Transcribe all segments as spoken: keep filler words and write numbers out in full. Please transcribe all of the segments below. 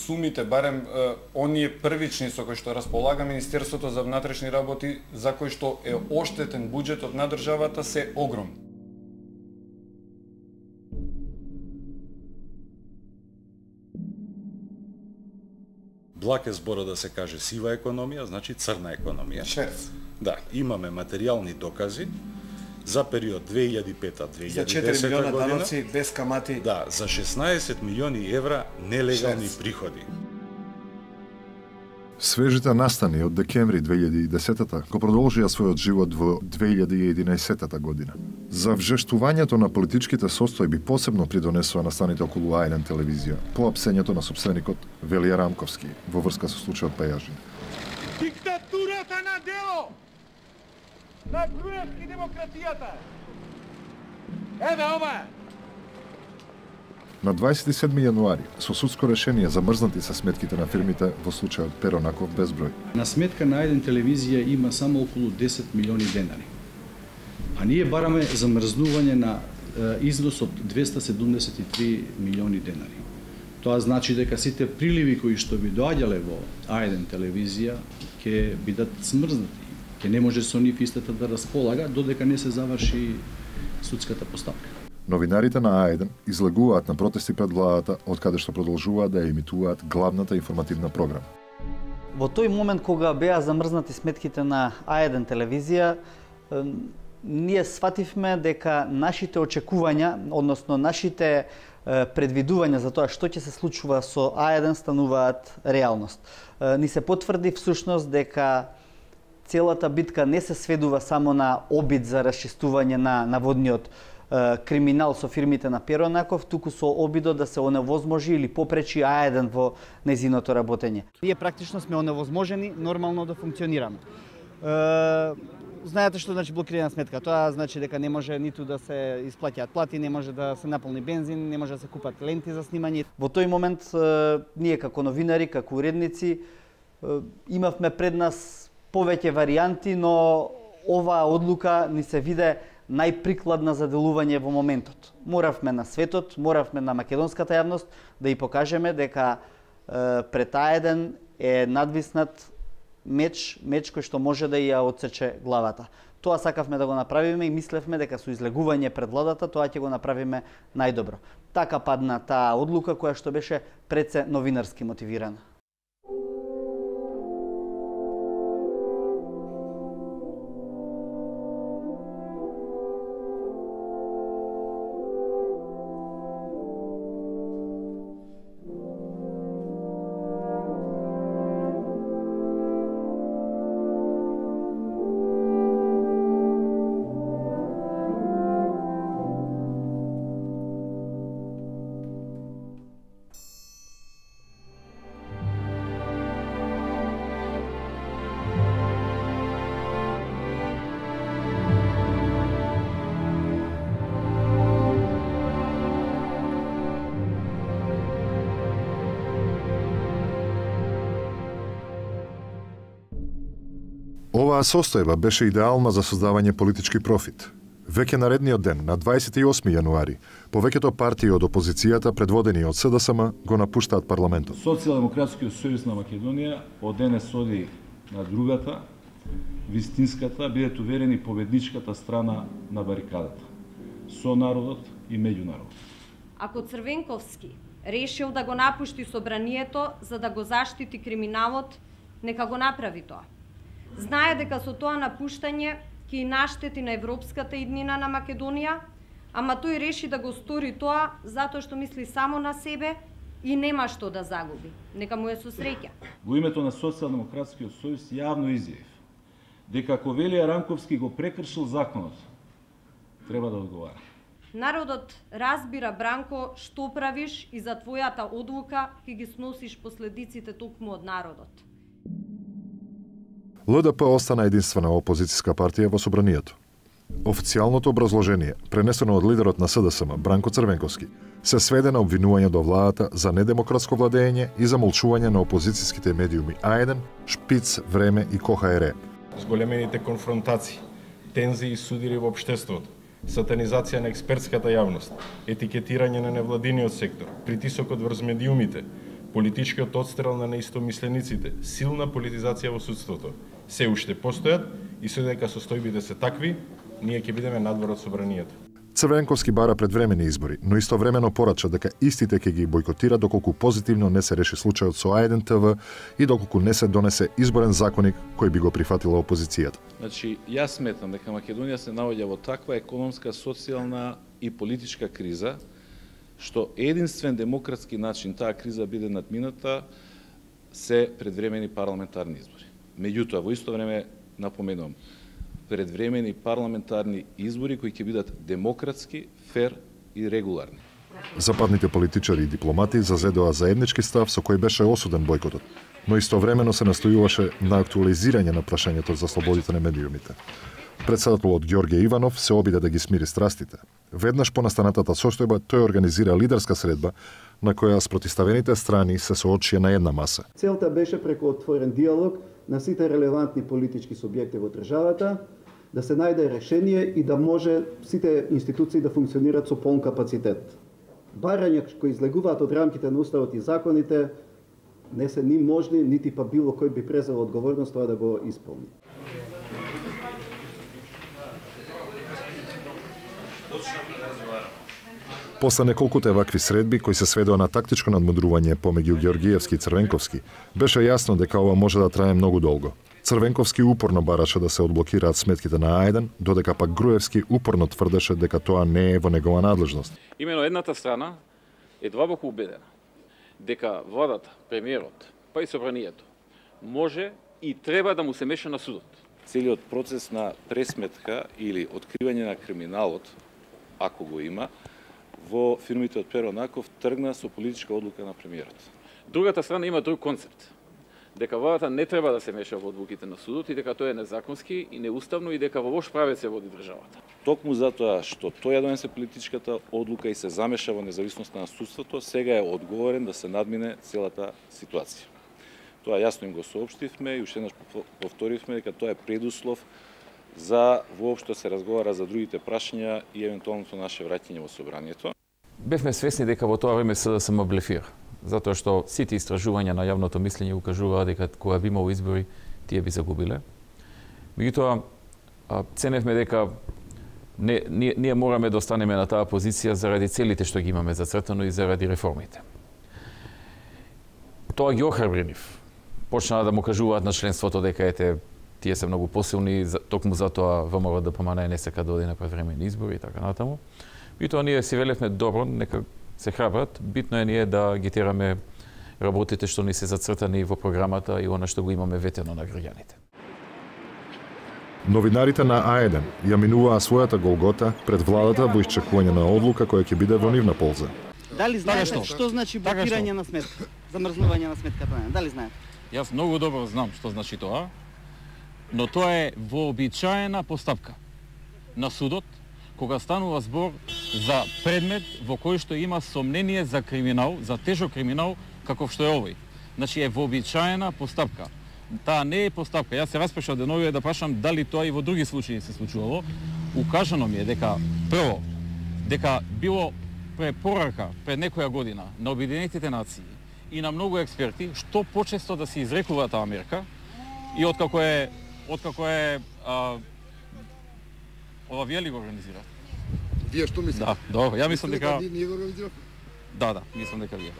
сумите, барем е, оние првични со кои што располага Министерството за внатрешни работи, за кои што е оштетен буџетот на државата, се огромни. Благ е збора да се каже сива економија, значи црна економија. Шверц. Да, имаме материјални докази за период две илјади и пета - две илјади и За четири десета милиона година. даноци без камати. Да, за шеснаесет милиони евра нелегални Шверц. приходи. Свежите настани од декември две илјади и десета го продолжија својот живот во две илјади и единаесета година. За вжештувањето на политичките состојби посебно придонесоа настаните околу А еден телевизија, по апсењето на сопственикот Велија Рамковски во врска со случајот Пејажин. Диктатурата на дело! На Груевски демократијата! Еве ова е! На дваесет и седми јануари, со судско решение замрзнати се сметките на фирмите во случајот Перонаков безброј. На сметка на еден телевизија има само околу десет милиони денари. А ние бараме замрзнување на е, износ од двесте седумдесет и три милиони денари. Тоа значи дека сите приливи кои што би доаѓале во А еден телевизија ќе бидат смрзнати. Ќе не може со нив истата да располага додека не се заврши судската постапка. Новинарите на А еден излегуваат на протести пред владата, од каде што продолжуваат да емитуваат главната информативна програма. Во тој момент кога беа замрзнати сметките на А еден телевизија, ние свативме дека нашите очекувања, односно нашите предвидувања за тоа што ќе се случува со А еден стануваат реалност. Ни се потврди всушност дека целата битка не се сведува само на обид за расчистување на наводниот криминал со фирмите на Перонаков, туку со обидот да се оневозможи или попречи А еден во нејзиното работење. Ние практично сме оневозможени нормално да функционираме. Е, знаете што значи блокирана сметка? Тоа значи дека не може ниту да се исплаќаат плати, не може да се наполни бензин, не може да се купат ленти за снимање. Во тој момент е, ние како новинари, како уредници, е, имавме пред нас повеќе варијанти, но оваа одлука ни се виде најприкладна за делување во моментот. Моравме на светот, моравме на македонската јавност да ја покажеме дека е, пред А еден е надвиснат меч, меч кој што може да ја отсече главата. Тоа сакавме да го направиме и мислевме дека со излегување пред владата тоа ќе го направиме најдобро. Така падна таа одлука која што беше пред се новинарски мотивирана. Оваа состојба беше идеална за создавање политички профит. Веќе наредниот ден, на дваесет и осми јануари, повеќето партии од опозицијата, предводени од С Д С М, го напуштаат парламентот. Социјалдемократскиот сојуз на Македонија од денес оди на другата, вистинската, бидете уверени, победничката страна на барикадата. Со народот и меѓу народот. Ако Црвенковски решил да го напушти собранието за да го заштити криминалот, нека го направи тоа. Знае дека со тоа напуштање ќе наштети на европската иднина на Македонија, ама тој реши да го стори тоа затоа што мисли само на себе и нема што да загуби. Нека му е со среќа. Во името на Социјалдемократскиот сојуз јавно изјавив дека ако Велија Рамковски го прекршил законот, треба да одговара. Народот разбира, Бранко, што правиш и за твојата одлука ќе ги сносиш последиците токму од народот. Л Д П остана единствена опозицијска партија во собранието. Официјалното образложение, пренесено од лидерот на С Д С М, Бранко Црвенковски, се сведе на обвинување до владата за недемократско владење и замолчување на опозицијските медиуми А еден, Шпиц, Време и Ко Х Р. Зголемените конфронтации, тензии и судири во општеството, сатанизација на експертската јавност, етикетирање на невладиниот сектор, притисокот врз медиумите, политичкиот отстрел на неистомислениците, силна политизација во судството, се уште постојат и се дека состојбите се такви, ние ќе бидеме надвор од собранието. Црвенковски бара предвремени избори, но истовремено порача дека истите ќе ги бойкотира доколку позитивно не се реши случајот со А еден Те Ве и доколку не се донесе изборен законик кој би го прифатила опозицијата. Значи, јас сметам дека Македонија се наоѓа во таква економска, социјална и политичка криза, што единствен демократски начин таа криза биде надмината се предвремени парламентарни избори. Меѓутоа, во исто време напоменувам, предвремени парламентарни избори кои ќе бидат демократски, фер и регуларни. Западните политичари и дипломати зазедоа заеднички став со кој беше осуден бојкотот, но истовремено се настојуваше на актуализирање на прашањето за слободите на медиумите. Председателот Ѓорѓе Иванов се обиде да ги смири страстите. Веднаш по настанатата состојба тој организира лидерска средба на која спротиставените страни се соочија на една маса. Целта беше преку отворен диалог на сите релевантни политички субјекти во државата да се најде решение и да може сите институции да функционираат со полн капацитет. Барања кои излегуваат од рамките на уставот и законите не се ни можни, нити па било кој би презел одговорност тоа да го исполни. После неколкуте вакви средби кои се сведоа на тактичко надмудрување помеѓу Ѓоргиевски и Црвенковски, беше јасно дека ова може да трае многу долго. Црвенковски упорно бараше да се одблокираат сметките на А еден, додека пак Груевски упорно тврдеше дека тоа не е во негова надлежност. Имено едната страна е длабоко убедена дека владата, премиерот, па и собранието може и треба да му се меша на судот. Целиот процес на пресметка или откривање на криминалот, ако го има, во фирмите од Перо Наков тргна со политичка одлука на премиерот. Другата страна има друг концепт. Дека владата не треба да се меша во одлуките на судот и дека тоа е незаконски и неуставно и дека во лош правец се води државата. Токму затоа што тој ја донесе политичката одлука и се замеша во независноста на судството, сега е одговорен да се надмине целата ситуација. Тоа јасно им го соопштивме и уште еднаш повторивме дека тоа е предуслов за воопшто се разговара за другите прашања и евентуалното наше враќање во собранието. Бевме свесни дека во тоа време СДСМ блефира, затоа што сите истражувања на јавното мислење укажуваа дека кога би имало избори, тие би загубиле. Меѓутоа, ценевме дека не, ние, ние мораме да останеме на таа позиција заради целите што ги имаме зацртано и заради реформите. Тоа ги охрабри нив. Почнаа да му кажуваат на членството дека ете тие се многу посилни, токму затоа ВМРО Д П М Н не сека да оди на предвремени избори и така натаму. И тоа ние си велевме добро, нека се храбрат, битно е ние да ги тераме работите што ни се зацртани во програмата и она што го имаме ветено на граѓаните. Новинарите на А еден ја минуваа својата голгота пред владата во исчекување на одлука која ќе биде во нивна полза. Дали знаете што, што значи блокирање на сметка, замрзнување на сметката? Дали знаете? Јас многу добро знам што значи тоа, но тоа е вообичаена постапка на судот кога станува збор за предмет во кој што има сомнение за криминал, за тежок криминал каков што е овој. Значи е вообичаена постапка. Таа не е постапка. Јас се распешав деновиве да прашам дали тоа и во други случаи се случувало. Укажано ми е дека прво дека било препорака пред некоја година на Обединетите нации и на многу експерти што почесто да се изрекува таа мерка и откако е откако е а, ова вие ли го организира? Вие што мислите? Да, добро. Ја мислам дека ние го организираме. Да, да, мислам дека вие.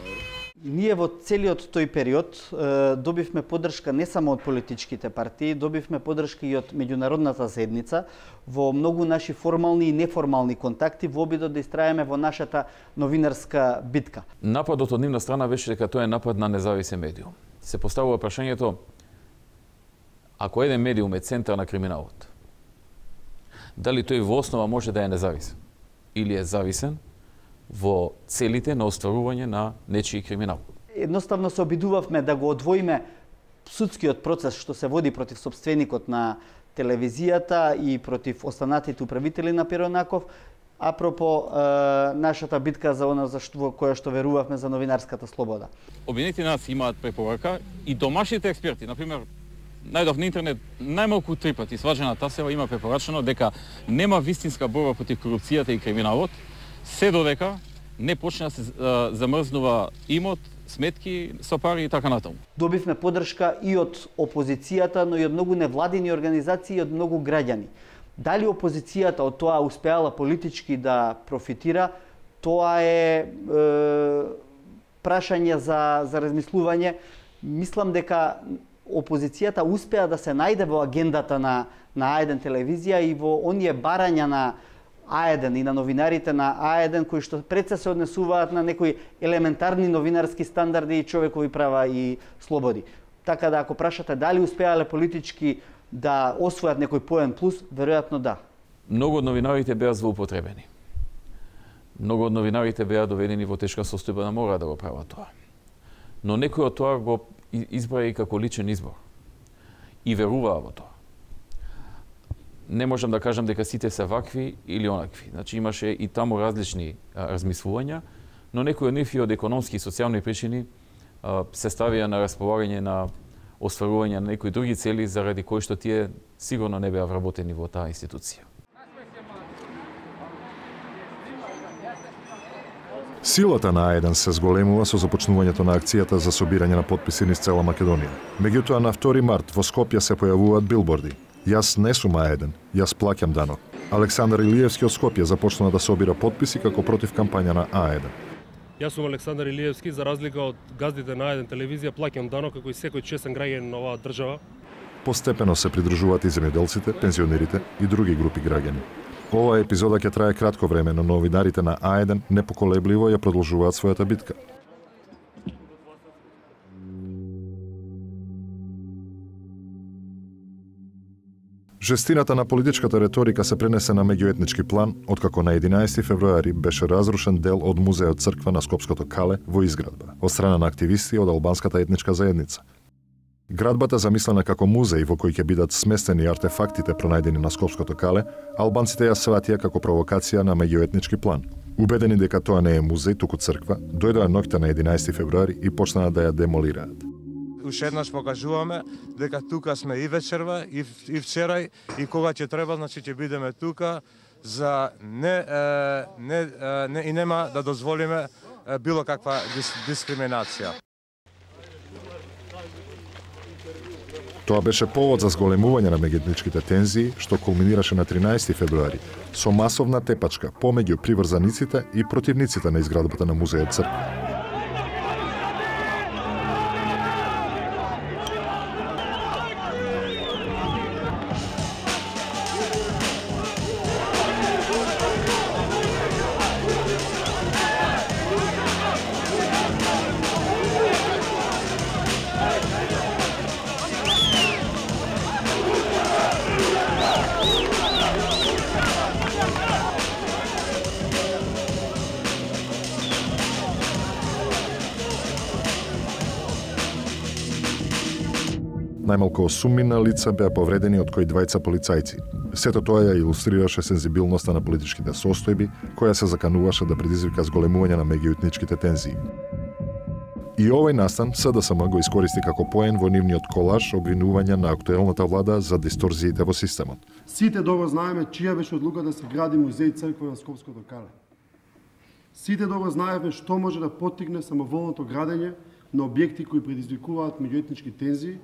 Ние во целиот тој период е, добивме поддршка не само од политичките партии, добивме поддршка и од меѓународната заедница во многу наши формални и неформални контакти во обидот да истраеме во нашата новинарска битка. Нападот од нивна страна беше дека тоа е напад на независен медиум. Се поставува прашањето ако еден медиум е центар на криминалот, дали тој во основа може да е независен или е зависен во целите на остварување на нечии криминал. Едноставно се обидувавме да го одвоиме судскиот процес што се води против сопственикот на телевизијата и против останатите управители на Перо Наков, апропо е, нашата битка за она за што, која што верувавме за новинарската слобода. Обединетите нации имаат препорака и домашните експерти, например, најдов на интернет најмалку три пати Сваџана Тасева има препорачено дека нема вистинска борба против корупцијата и криминалот се додека не почне да се замрзнува имот, сметки со пари и така натаму. Добивме поддршка и од опозицијата, но и од многу невладини организации и од многу граѓани. Дали опозицијата од тоа успеала политички да профитира, тоа е, е прашање за, за размислување. Мислам дека опозицијата успеа да се најде во агендата на, на А еден телевизија и во оние барања на А еден и на новинарите на А еден кои што пред се се однесуваат на некои елементарни новинарски стандарди и човекови права и слободи. Така да ако прашате дали успеале политички да освојат некој поен плюс, веројатно да. Многу од новинарите беа злоупотребени. Многу од новинарите беа доведени во тешка состојба да мора да го прават тоа. Но некој од тоа го избра и како личен избор. И веруваа во тоа. Не можам да кажам дека сите се вакви или онакви. Значи имаше и таму различни а, размислувања, но некои од нив и од економски и социјални причини а, се ставија на располагање на остварување на некои други цели заради кои што тие сигурно не беа вработени во таа институција. Силата на А еден се зголемува со започнувањето на акцијата за собирање на потписи низ цела Македонија. Меѓутоа на втори март во Скопје се појавуваат билборди. Јас не сум А еден, јас плаќам данок. Александар Илиевски од Скопје започна да собира потписи како против кампања на А еден. Јас сум Александар Илиевски, за разлика од газдите на А еден телевизија, плаќам данок како и секој честен граѓанин на оваа држава. Постепено се придружуваат и земјоделците, пензионерите и други групи граѓани. Оваа епизода ќе трае кратко време, но новинарите на А еден непоколебливо ја продолжуваат својата битка. Жестината на политичката реторика се пренесе на меѓуетнички план, откако на единаесети февруари беше разрушен дел од музејот црква на Скопското Кале во изградба, од страна на активисти од албанската етничка заедница. Градбата замислена како музеј во кој ќе бидат сместени артефактите пронајдени на Скопското Кале, албанците ја сватија како провокација на меѓуетнички план. Убедени дека тоа не е музеј, туку црква, дојдоа ноќта на единаесети февруари и почнаа да ја демолираат. Уште еднаш покажуваме дека тука сме и вечерва, и, и вчерај, и кога ќе треба, значи ќе бидеме тука за не, е, не, е, не и нема да дозволиме е, било каква дис, дискриминација. Тоа беше повод за зголемување на меѓуетничките тензии, што кулминираше на тринаесети февруари, со масовна тепачка помеѓу приврзаниците и противниците на изградбата на музејот црква. Најмалку осуммина лица беа повредени, од кои двајца полицајци. Сето тоа ја илустрираше сензибилноста на политичките состојби, која се закануваше да предизвика зголемување на меѓуетничките тензии. И овој настан СДСМ го искористи како поен во нивниот колаж обвинување на актуелната влада за дисторзиите во системот. Сите добро знаеме чија беше одлука да се гради музеј црква на Скопското Кале. Сите добро знаеме што може да поттикне самоволното градење на објекти кои предизвикуваат меѓуетнички тензии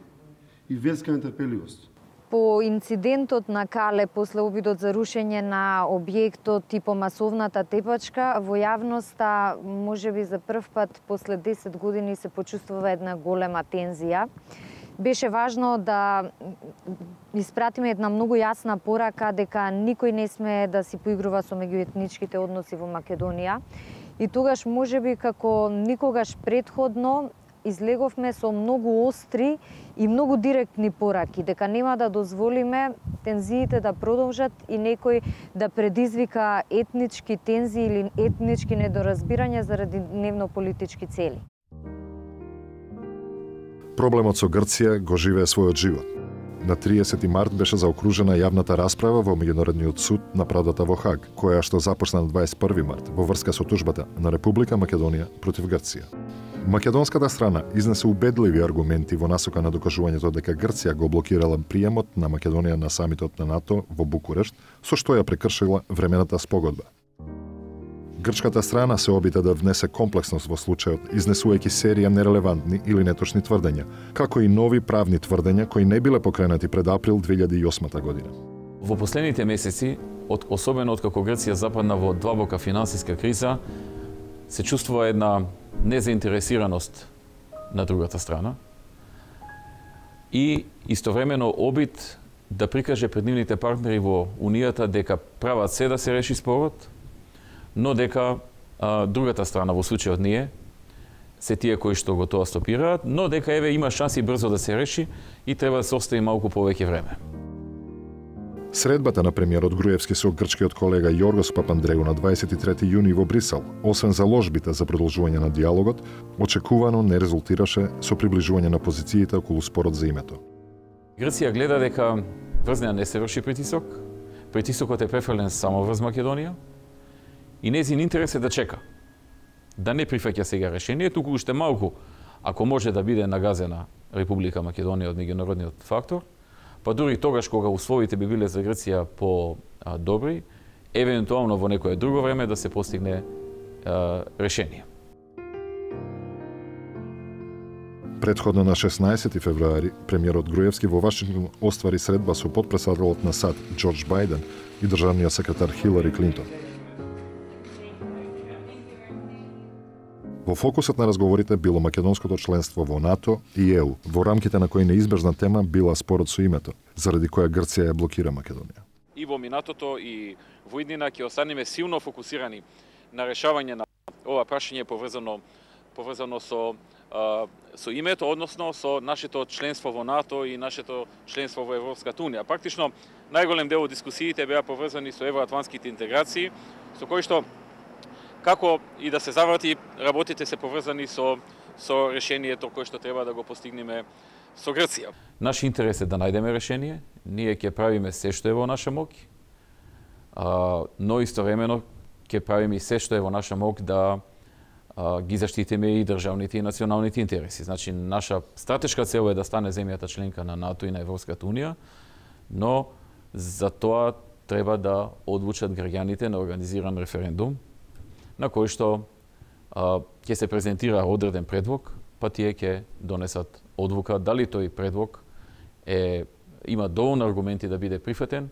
и верска нетрпеливост. По инцидентот на Кале, после обидот за рушење на објектот и по масовната тепачка, во јавноста, можеби за прв пат после десет години се почувствува една голема тензија. Беше важно да испратиме една многу јасна порака дека никој не сме да си поигрува со меѓуетничките односи во Македонија. И тогаш можеби како никогаш претходно излеговме со многу остри и многу директни пораки, дека нема да дозволиме тензиите да продолжат и некој да предизвика етнички тензии или етнички недоразбирања заради дневно-политички цели. Проблемот со Грција го живее својот живот. На триесети март беше заокружена јавната расправа во Меѓународниот суд на правдата во Хаг, која што започна на дваесет и први март во врска со тужбата на Република Македонија против Грција. Македонската страна изнесе убедливи аргументи во насока на докажувањето дека Грција го блокирала приемот на Македонија на самитот на НАТО во Букурешт, со што ја прекршила времената спогодба. Грчката страна се обита да внесе комплексност во случајот, изнесувајќи серија нерелевантни или неточни тврдења, како и нови правни тврдења кои не биле покренати пред април две илјади и осма година. Во последните месеци, од, особено откако Грција западна во длабока финансиска криза, се чувствува една незаинтересираност на другата страна и истовремено обид да прикаже пред нивните партнери во Унијата дека прават се да се реши спорот, но дека а, другата страна, во случајот ние, се тие кои што го тоа стопираат, но дека еве има шанси брзо да се реши и треба да се остави малку повеќе време. Средбата на премиерот Груевски со грчкиот колега Јоргос Папандреу на дваесет и трети јуни во Брисел, освен заложбите за продолжување на диалогот, очекувано не резултираше со приближување на позициите околу спорот за името. Грција гледа дека врз неа не се врши притисок, притисокот е префрлен само врз Македонија и нејзин интерес е да чека, да не прифаќа сега решение, туку уште малку, ако може да биде нагазена Република Македонија од меѓународниот фактор, па дури тогаш кога условите би биле за Грција по-добри, евентуално во некое друго време да се постигне а, решение. Предходно на шеснаесети февруари, премиерот Груевски во Вашингтон оствари средба со потпредседателот на САД Џорџ Бајден и државниот секретар Хилари Клинтон. Во фокусот на разговорите било македонското членство во НАТО и Е У, во рамките на кој неизбежна тема била спорот со името, заради која Грција ја блокира Македонија. И во минатото и во иднина ќе останеме силно фокусирани на решавање на ова прашање поврзано поврзано со а, со името, односно со нашето членство во НАТО и нашето членство во Европската унија. Практично најголем дел од дискусиите беа поврзани со евроатлантските интеграции, со кои што како и да се заврати, работите се поврзани со со решението кое што треба да го постигнеме со Грција. Наш интерес е да најдеме решение, ние ќе правиме се што е во наша мок, а, но истовремено ќе правиме и се што е во наша мок да а, ги заштитиме и државните и националните интереси. Значи, наша стратешка цел е да стане земјата членка на НАТО и на Европската унија, но за тоа треба да одлучат граѓаните на организиран референдум, на кој што а, ќе се презентира одреден предлог, па тие ќе донесат одлука дали тој предлог е, има доволно аргументи да биде прифатен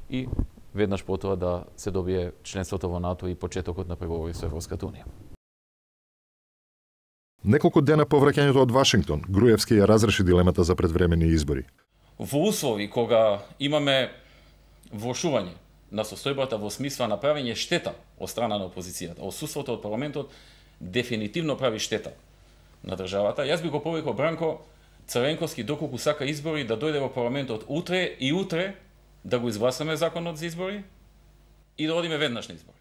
и веднаш потоа да се добие членството во НАТО и почетокот на преговори со Европската унија. Неколку дена по враќањето од Вашингтон, Груевски ја разреши дилемата за предвремени избори. Во услови кога имаме влошување на состојбата во смисла на правење штета од страна на опозицијата, отсуството од парламентот дефинитивно прави штета на државата. Јас би го повикал Бранко Црвенковски доколку сака избори да дојде во парламентот утре и утре да го изгласаме законот за избори и да одиме веднаш на избори.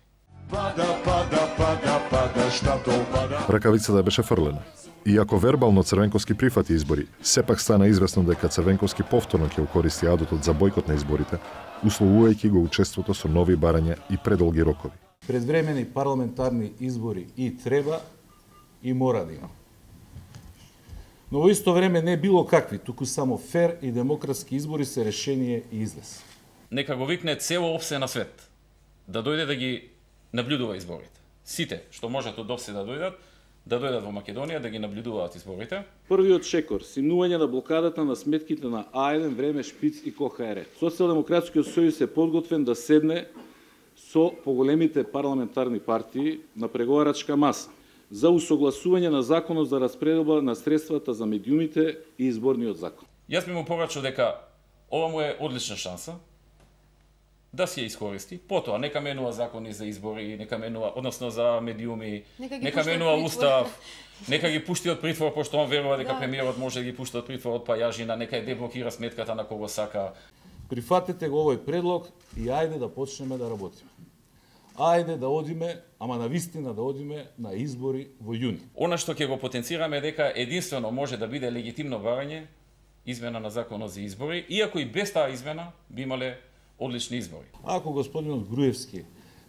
Пада, пада, пада, пада, штато пада. Ракавицата беше фрлена. Иако вербално Црвенковски прифати избори, сепак стана известно дека Црвенковски повторно ќе укористи адутот за бојкот на изборите, условувајќи го учеството со нови барања и предолги рокови. Предвремени парламентарни избори и треба и мора да има. Но во исто време не било какви, туку само фер и демократски избори се решение и излез. Нека го викне цело опсе на свет да дојде да ги наблюдува изборите. Сите што можат од опсе да дојдат, да дојдат во Македонија да ги наблюдуваат изборите. Првиот шекор, симнување на блокадата на сметките на А еден, Време, Шпиц и КОХР. Социјалдемократскиот сојуз е подготвен да седне со поголемите парламентарни партии на преговарачка маса за усогласување на законот за распределба на средствата за медиумите и изборниот закон. Јас би му порачал дека ова му е одлична шанса да си ја искористи. Потоа нека менува закони за избори, нека менува, односно за медиуми, нека, нека менува устав, нека ги пушти од притвор, пошто он верува дека да. Премиерот може да ги пушти од притвор од Пајажина, нека ја деблокира сметката на кого сака. Прифатете го овој предлог и ајде да почнеме да работиме. Ајде да одиме, ама на вистина да одиме на избори во јуни. Она што ќе го потенцираме дека единствено може да биде легитимно барање измена на законот за избори, иако и без таа измена би имале одлични избори. Ако господинот Груевски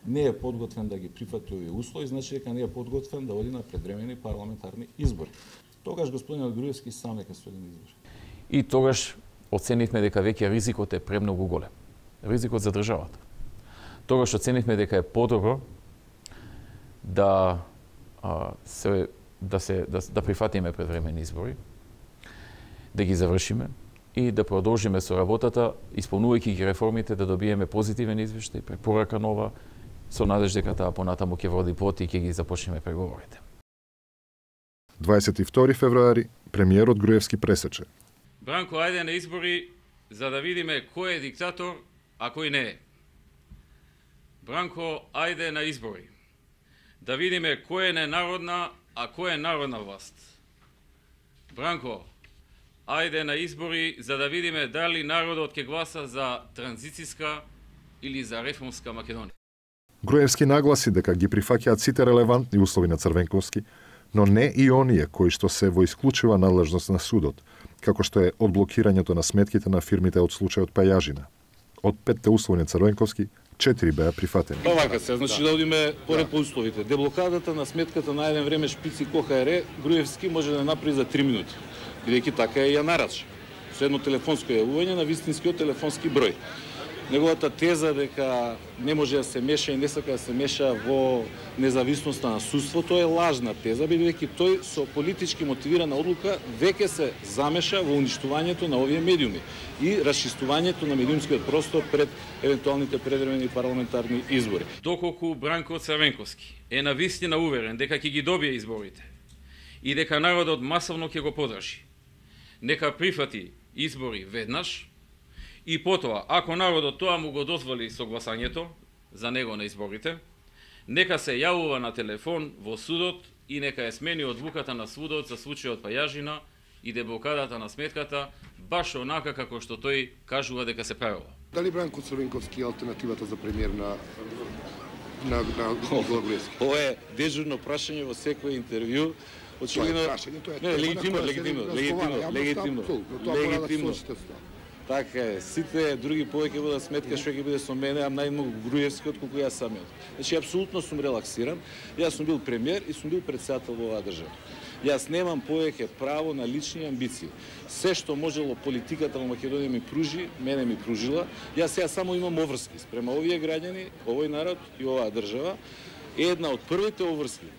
не е подготвен да ги прифати овие услови, значи дека не е подготвен да оди на предвремени парламентарни избори. Тогаш господинот Груевски сам нека се оди на избори. И тогаш оценивме дека веќе ризикот е премногу голем. Ризикот за државата. Тогаш оценивме дека е подобро да а, се да се да, да прифатиме предвремени избори, да ги завршиме и да продолжиме со работата, исполнувајќи ги реформите, да добиеме позитивен извештај, препорака нова, со надеж дека таа понатаму ќе води пот и ќе ги започнеме преговорите. дваесет и втори февруари, премиерот Груевски пресече. Бранко, ајде на избори за да видиме кој е диктатор, а кој не е. Бранко, ајде на избори да видиме кој е ненародна, а кој е народна власт. Бранко, ајде на избори за да видиме дали народот ќе гласа за транзицијска или за реформска Македонија. Груевски нагласи дека ги прифаќаат сите релевантни услови на Црвенковски, но не и оние кои што се во исклучива надлежност на судот, како што е одблокирањето на сметките на фирмите од случајот Пајажина. Од петте услови на Црвенковски, четири беа прифатени. Овака се, значи да одиме поред по условите. Деблокадата на сметката на еден време Шпици КОХР, Груевски може да направи за три минути, бидејќи така е ја нарача. Со едно телефонско јавување на вистинскиот телефонски број. Неговата теза дека не може да се меша и не сака да се меша во независноста на судството е лажна теза, бидејќи тој со политички мотивирана одлука веќе се замеша во уништувањето на овие медиуми и расчистувањето на медиумскиот простор пред евентуалните предвремени парламентарни избори. Доколку Бранко Црвенковски е навистина уверен дека ќе ги добие изборите и дека народот масовно ќе го подржи, нека прифати избори веднаш, и потоа, ако народот тоа му го дозволи согласањето за него на изборите, нека се јавува на телефон во судот и нека ја смени одлуката на судот за случајот Пајажина и деблокадата на сметката, баш онака како што тој кажува дека се правило. Дали Бранко Црвенковски е алтернативата за премиер на на на Никола Груевски? Ова е дежурно прашање во секој интервју. Очигледно, не, легитимно, легитимно, легитимно, легитимно, легитимно. Така е, сите други повеќе водат сметка што ќе биде со мене, а најмногу Груевски отколку јас самиот. Значи, апсолутно сум релаксиран. Јас сум бил премиер и сум бил претседател во оваа држава. Јас немам повеќе право на лични амбиции. Се што можело политиката во Македонија ми пружи, мене ми пружила. Јас сега само имам обврски спрема овие граѓани, овој народ и оваа држава. Една од првите обврски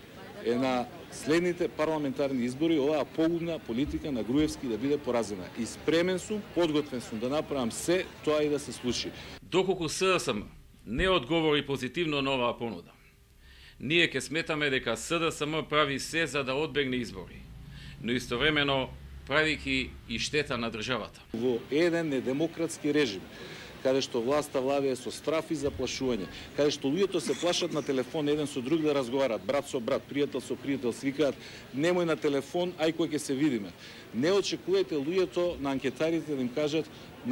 е на следните парламентарни избори оваа погубна политика на Груевски да биде поразена. И спремен сум, подготвен сум да направам се тоа и да се случи. Доколку СДСМ не одговори позитивно на оваа понуда, ние ќе сметаме дека СДСМ прави се за да одбегне избори, но истовремено правики и штета на државата. Во еден недемократски режим, каде што власта владее со страф и заплашување, каде што луѓето се плашат на телефон еден со друг да разговарат, брат со брат, пријател со пријател, свикаат немој на телефон, ај кој ќе се видиме. Не очекувајте луѓето на анкетарите да им кажат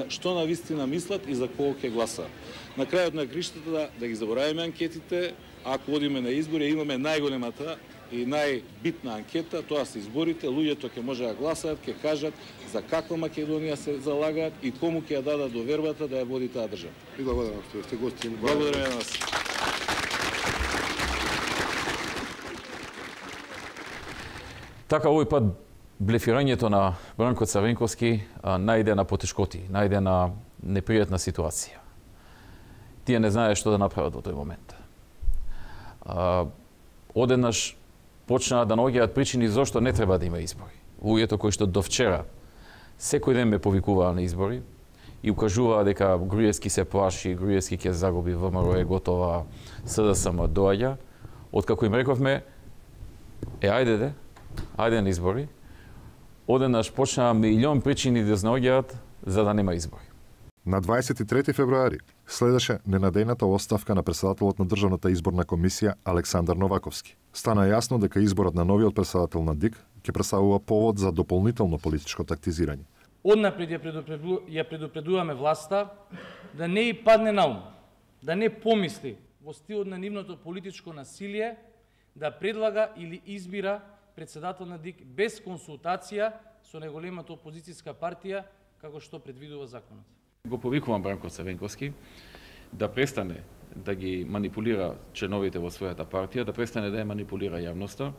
што на вистина мислат и за кого ќе гласаат. На крајот на криштата да, да ги заборавиме анкетите, ако одиме на избори, имаме најголемата и најбитна анкета, тоа се изборите, луѓето ќе може да гласаат, ќе кажат за каква Македонија се залагаат и кому ќе ја дадат довербата да ја води таа држава. И благодарам што сте гости. Благодарам на вас. Така, овој пат блефирањето на Бранко Црвенковски најде на потешкоти, најде на непријатна ситуација. Тие не знаеат што да направат во тој момент. Одеднаш почнаа да наоѓаат причини зошто не треба да има избори. Луѓето кои што до вчера секој ден ме повикуваа на избори и укажуваа дека Груевски се плаши, Груевски ќе загуби, ВМРО е готова, СДСМ доаѓа. Откако им рековме, е ајде де, ајде на избори, одеднаш почнаа милион причини да наоѓаат за да нема избори. На дваесет и трети февруари следеше ненадејната оставка на председателот на Државната изборна комисија Александар Новаковски. Стана јасно дека изборот на новиот председател на ДИК ќе представува повод за дополнително политичко тактизирање. Однапред ја, предупреду, ја предупредуваме власта да не и падне на ум, да не помисли во стилот на нивното политичко насилие да предлага или избира председател на ДИК без консултација со најголемата опозицијска партија како што предвидува законот. Го повикувам Бранко Црвенковски да престане да ги манипулира членовите во својата партија, да престане да ја манипулира јавноста.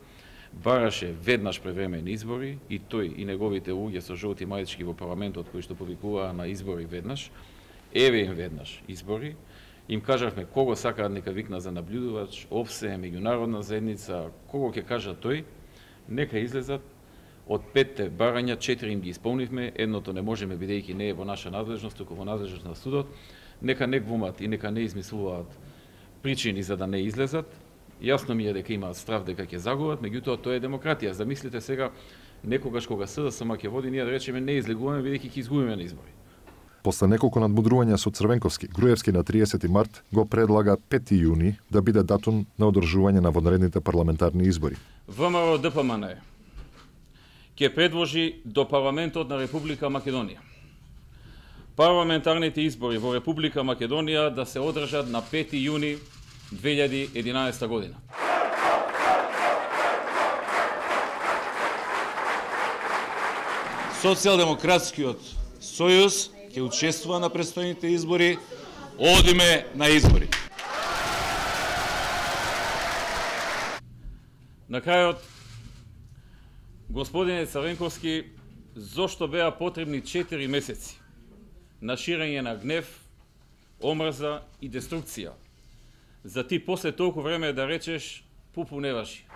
Бараше веднаш превремени избори и тој и неговите луѓе со жолти мајчки во парламентот кои што повикуваа на избори веднаш. Еве им веднаш избори Им кажавме кого сакаат нека викна за наблюдувач, ОВСЕ, меѓународна заедница, кого ќе кажа тој, нека излезат. Од петте барања, четири им ги исполнивме, едното не можеме бидејќи не е во наша надлежност, туку во надлежност на судот. Нека не глумат и нека не измислуваат причини за да не излезат. Јасно ми е дека имаат страв дека ќе загубат, меѓутоа тоа е демократија. Замислите сега, некогаш кога СДСМ ќе води, ние да речеме не излегуваме бидејќи ќе изгубиме на избори. После неколку надмудрувања со Црвенковски, Груевски на триесети март го предлага пети јуни да биде датум на одржување на вонредните парламентарни избори. ВМРО Д П М Н ќе предложи до парламентот на Република Македонија парламентарните избори во Република Македонија да се одржат на пети јуни две илјади и единаесета година. Социјалдемократскиот сојуз ќе учествува на престојните избори, одиме на избори. На крајот, господине Црвенковски, зошто беа потребни четири месеци на ширење на гнев, омрза и деструкција, за ти после толку време да речеш пупу не важи?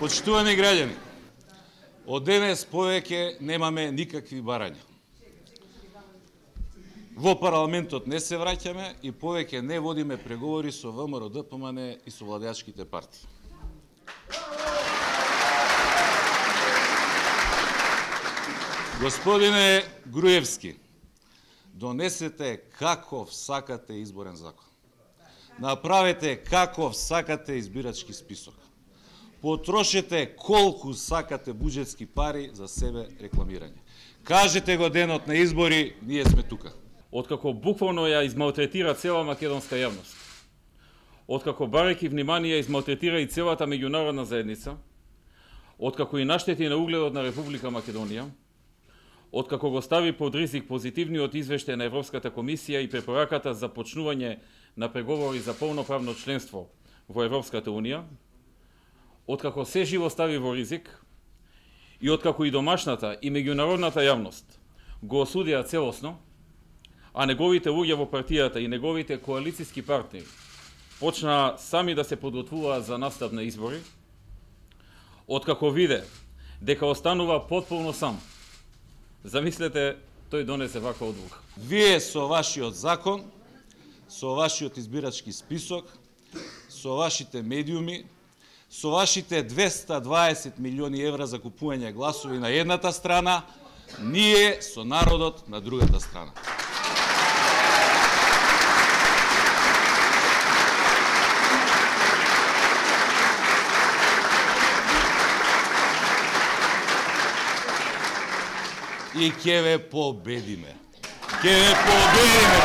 Почитувани граѓани, од денес повеќе немаме никакви барања. Во парламентот не се враќаме и повеќе не водиме преговори со ВМРО Д П М Н и со владеачките партии. Господине Груевски, донесете каков сакате изборен закон. Направете каков сакате избирачки список. Потрошете колку сакате буџетски пари за себе рекламирање. Кажете го денот на избори, ние сме тука. Откако буквално ја измалтретира цела македонска јавност, откако барајќи внимание измалтретира и целата меѓународна заедница, откако и наштети на угледот на Република Македонија, откако го стави под ризик позитивниот извештај на Европската комисија и препораката за почнување на преговори за полноправно членство во Европската унија, откако се живо стави во ризик и откако и домашната и меѓународната јавност го осудија целосно, а неговите луѓе во партијата и неговите коалициски партнери почнаа сами да се подготвуваат за настап на избори, откако виде дека останува потполно сам, замислете, тој донесе ваква одлука. Вие со вашиот закон, со вашиот избирачки список, со вашите медиуми, со вашите двеста дваесет милиони евра за купување гласови на едната страна, ние со народот на другата страна. И ќе ве победиме. Ќе ве победиме.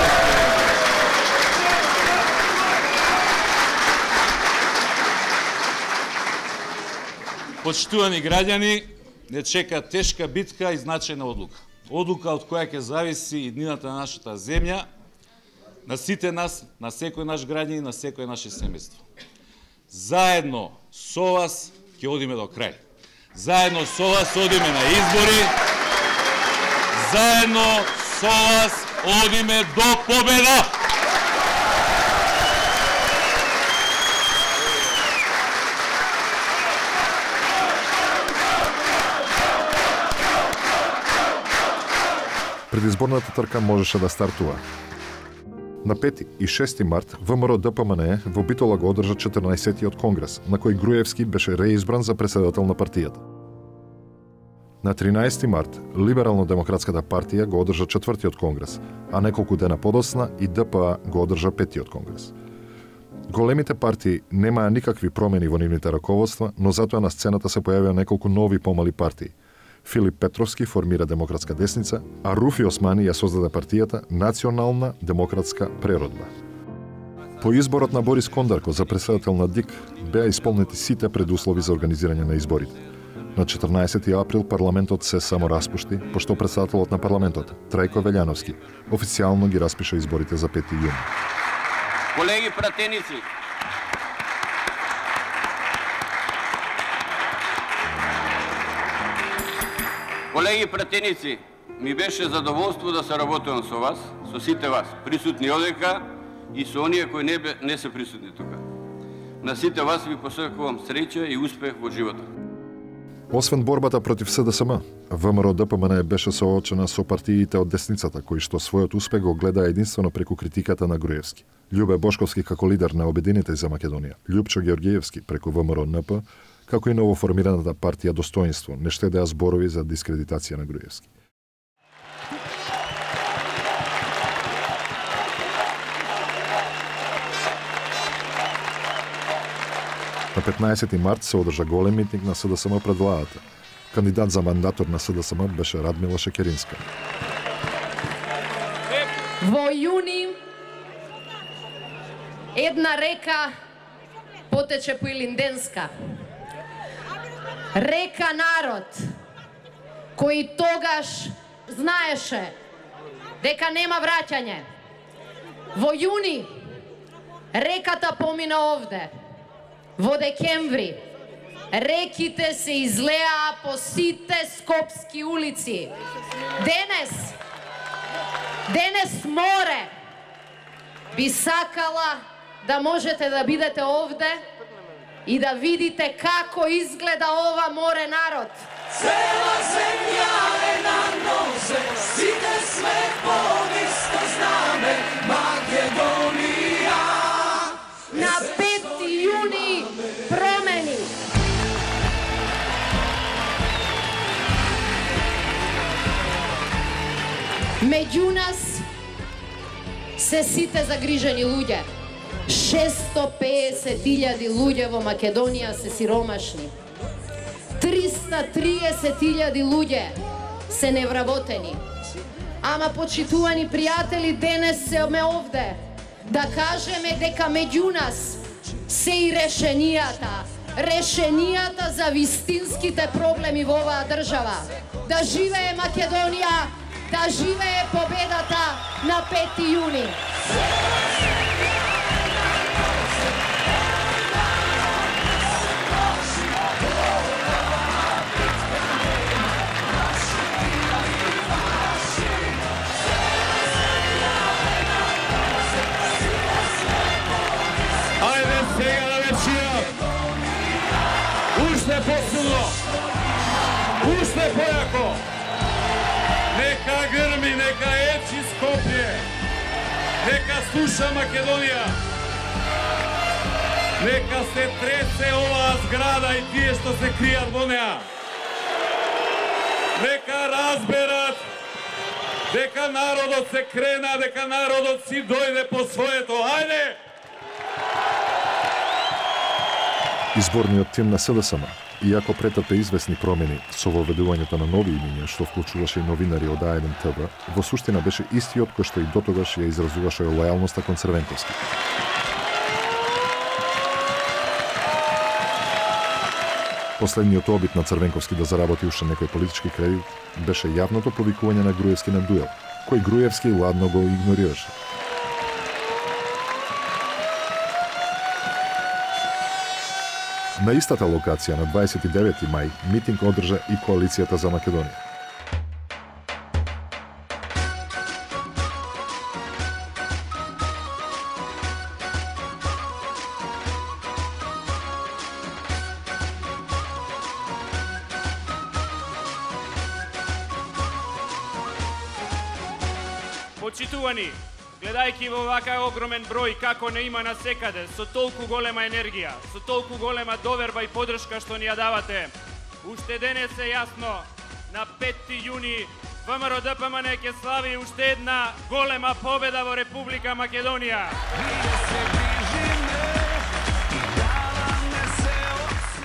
Почитувани граѓани, не чека тешка битка и значајна одлука. Одлука од која ќе зависи и иднината на нашата земја, на сите нас, на секој наш граѓанин, на секој наше семејство. Заедно со вас ќе одиме до крај. Заедно со вас одиме на избори. Заедно со вас одиме до победа! Предизборната трка можеше да стартува. На пети и шести март ВМРО Д П М Н во Битола го одржа четрнаесеттиот конгрес, на кој Груевски беше реизбран за претседател на партијата. На тринаесети март Либерално-демократската партија го одржа четвртиот конгрес, а неколку дена подоцна и Д П А го одржа петтиот конгрес. Големите партии немаа никакви промени во нивните раководства, но затоа на сцената се појавија неколку нови помали партии. Филип Петровски формира Демократска десница, а Руфи Османи ја создаде партијата Национална демократска преродба. По изборот на Борис Кондарко за претседател на ДИК беа исполнети сите предуслови за организирање на изборите. На четрнаесети април парламентот се само распушти, пошто претседателот на парламентот, Трајко Велјановски, официјално ги распиша изборите за пети јуни. Колеги пратеници, Колеги пратеници, ми беше задоволство да се работувам со вас, со сите вас, присутни одека и со оние кои не, не се присутни тука. На сите вас ви посакувам среќа и успех во живота. Освен борбата против СДСМ, ВМРО Д П М Н беше соочена со партиите од десницата, кои што својот успех го гледа единствено преку критиката на Груевски. Љубе Бошковски како лидер на Обединете за Македонија, Љупчо Георгиевски преку ВМРО Н П, како и новоформираната партија Достоинство, не штедеа зборови за дискредитација на Груевски. На петнаесети март се одржа голем митинг на СДСМ пред владата. Кандидат за мандатор на СДСМ беше Радмила Шекеринска. Во јуни една река потече по Илинденска. Река народ, кој тогаш знаеше дека нема враќање. Во јуни реката помина овде. Во декември реките се излеа по сите скопски улици. Денес, денес море би сакала да можете да бидете овде и да видите како изгледа ова море народ. Цела земја е на нозе, сите сме по исто знаме, Македонија. На пети јуни промени. Меѓу нас се сите загрижени луѓе. шеста пеесет илјади луѓе во Македонија се сиромашни. триста триесет илјади луѓе се невработени. Ама, почитувани пријатели, денес сме овде да кажеме дека меѓу нас се и решенијата. Решенијата за вистинските проблеми во оваа држава. Да живее Македонија, да живее победата на пети јуни. Ајде сега да вечера. Уште посилно. Уште појако. Нека грми, нека ечи Скопје. Нека слуша Македонија. Нека се тресе оваа зграда и тие што се кријат во неа. Нека разберат дека народот се крена, дека народот си дојде по своето. Ајде! Изборниот тим на СДСМ, иако претрпе известни промени со воведувањето на нови имиња што вклучуваше и новинари од А еден Т В, во суштина беше истиот кој што и дотогаш ја изразуваше лојалноста кон Црвенковски. Последниот обид на Црвенковски да заработи уште некој политички кредит беше јавното повикување на Груевски на дуел, кој Груевски ладно го игнорираше. На истата локација на дваесет и девети мај митинг одржа и Коалицијата за Македонија. Почитувани, гледајќи во вака огромен број како не има насекаде, со толку голема енергија, со толку голема доверба и поддршка што ни ја давате, уште денес е јасно, на пети јуни ВМРО Д П М Н ќе слави уште една голема победа во Република Македонија.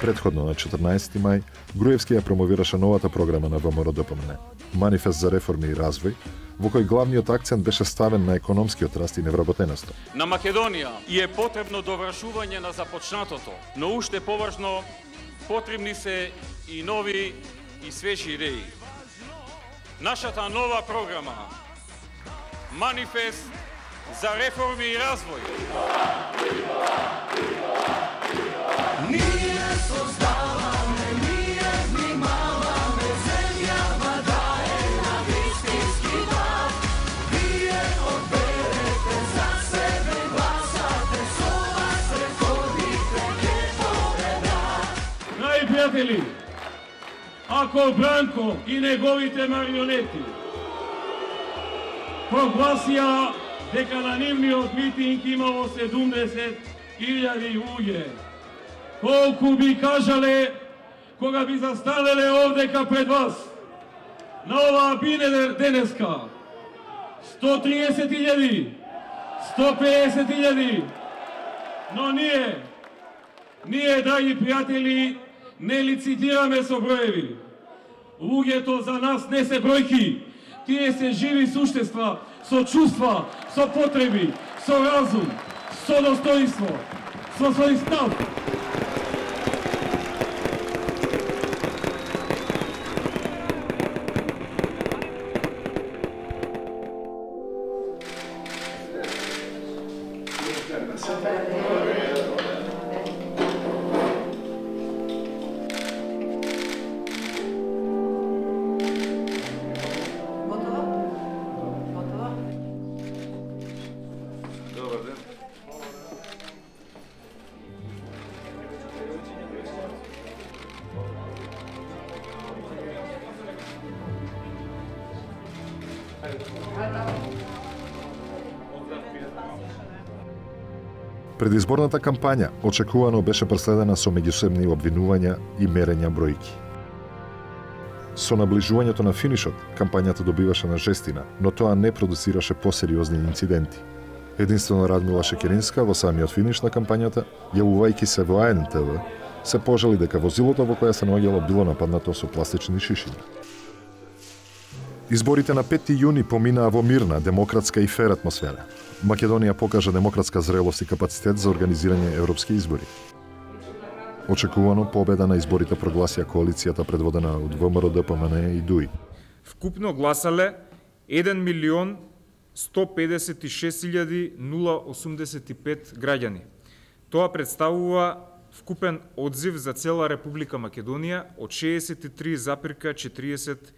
Предходно на четрнаесети мај, Груевски ја промовираше новата програма на ВМРО Д П М Н, Манифест за реформи и развој, во кој главниот акцент беше ставен на економскиот раст и невработеноста. На Македонија и е потребно довршување на започнатото, но уште поважно потребни се и нови и свежи идеи. Нашата нова програма Манифест за реформи и развој. Ние создаваме, ние внимаваме, земјава пријатели, ако Бранко и неговите марионети прогласија дека на нивниот митинг имало седумдесет илјади луѓе, колку би кажале кога би застанеле овдека пред вас на оваа бине денеска? сто триесет илјади, сто пеесет илјади. Но ние, ние, драги пријатели, не лицитираме со броеви. Луѓето за нас не се бројки, тие се живи суштества, со чувства, со потреби, со разум, со достоинство, со свој став. Предизборната кампања очекувано беше преследена со меѓусебни обвинувања и мерења бројки. Со наближувањето на финишот, кампањата добиваше на жестина, но тоа не продуцираше посериозни инциденти. Единствено Радмила Шекеринска во самиот финиш на кампањата, јавувајќи се во А Н Т В, се пожали дека возилото во кое се наоѓало било нападнато со пластични шишиња. Изборите на петти јуни поминаа во мирна, демократска и фер атмосфера. Македонија покажа демократска зрелост и капацитет за организирање европски избори. Очекувано победа на изборите прогласија коалицијата предводена од В М Р Д П М Н и Д У И. Вкупно гласале еден милион сто педесет и шест илјади осумдесет и пет граѓани. Тоа представува вкупен одзив за цела Република Македонија од шеесет и три запирка четириесет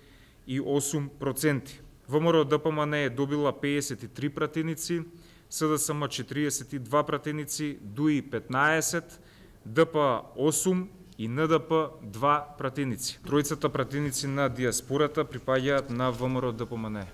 и осум проценти. В М Р Д П М Н е добила пеесет и три пратеници, С Д С М четириесет и два пратеници, Д У И петнаесет, Д П осум и Н Д П два пратеници. Тројцата пратеници на диаспората припаѓаат на В М Р Д П М Н.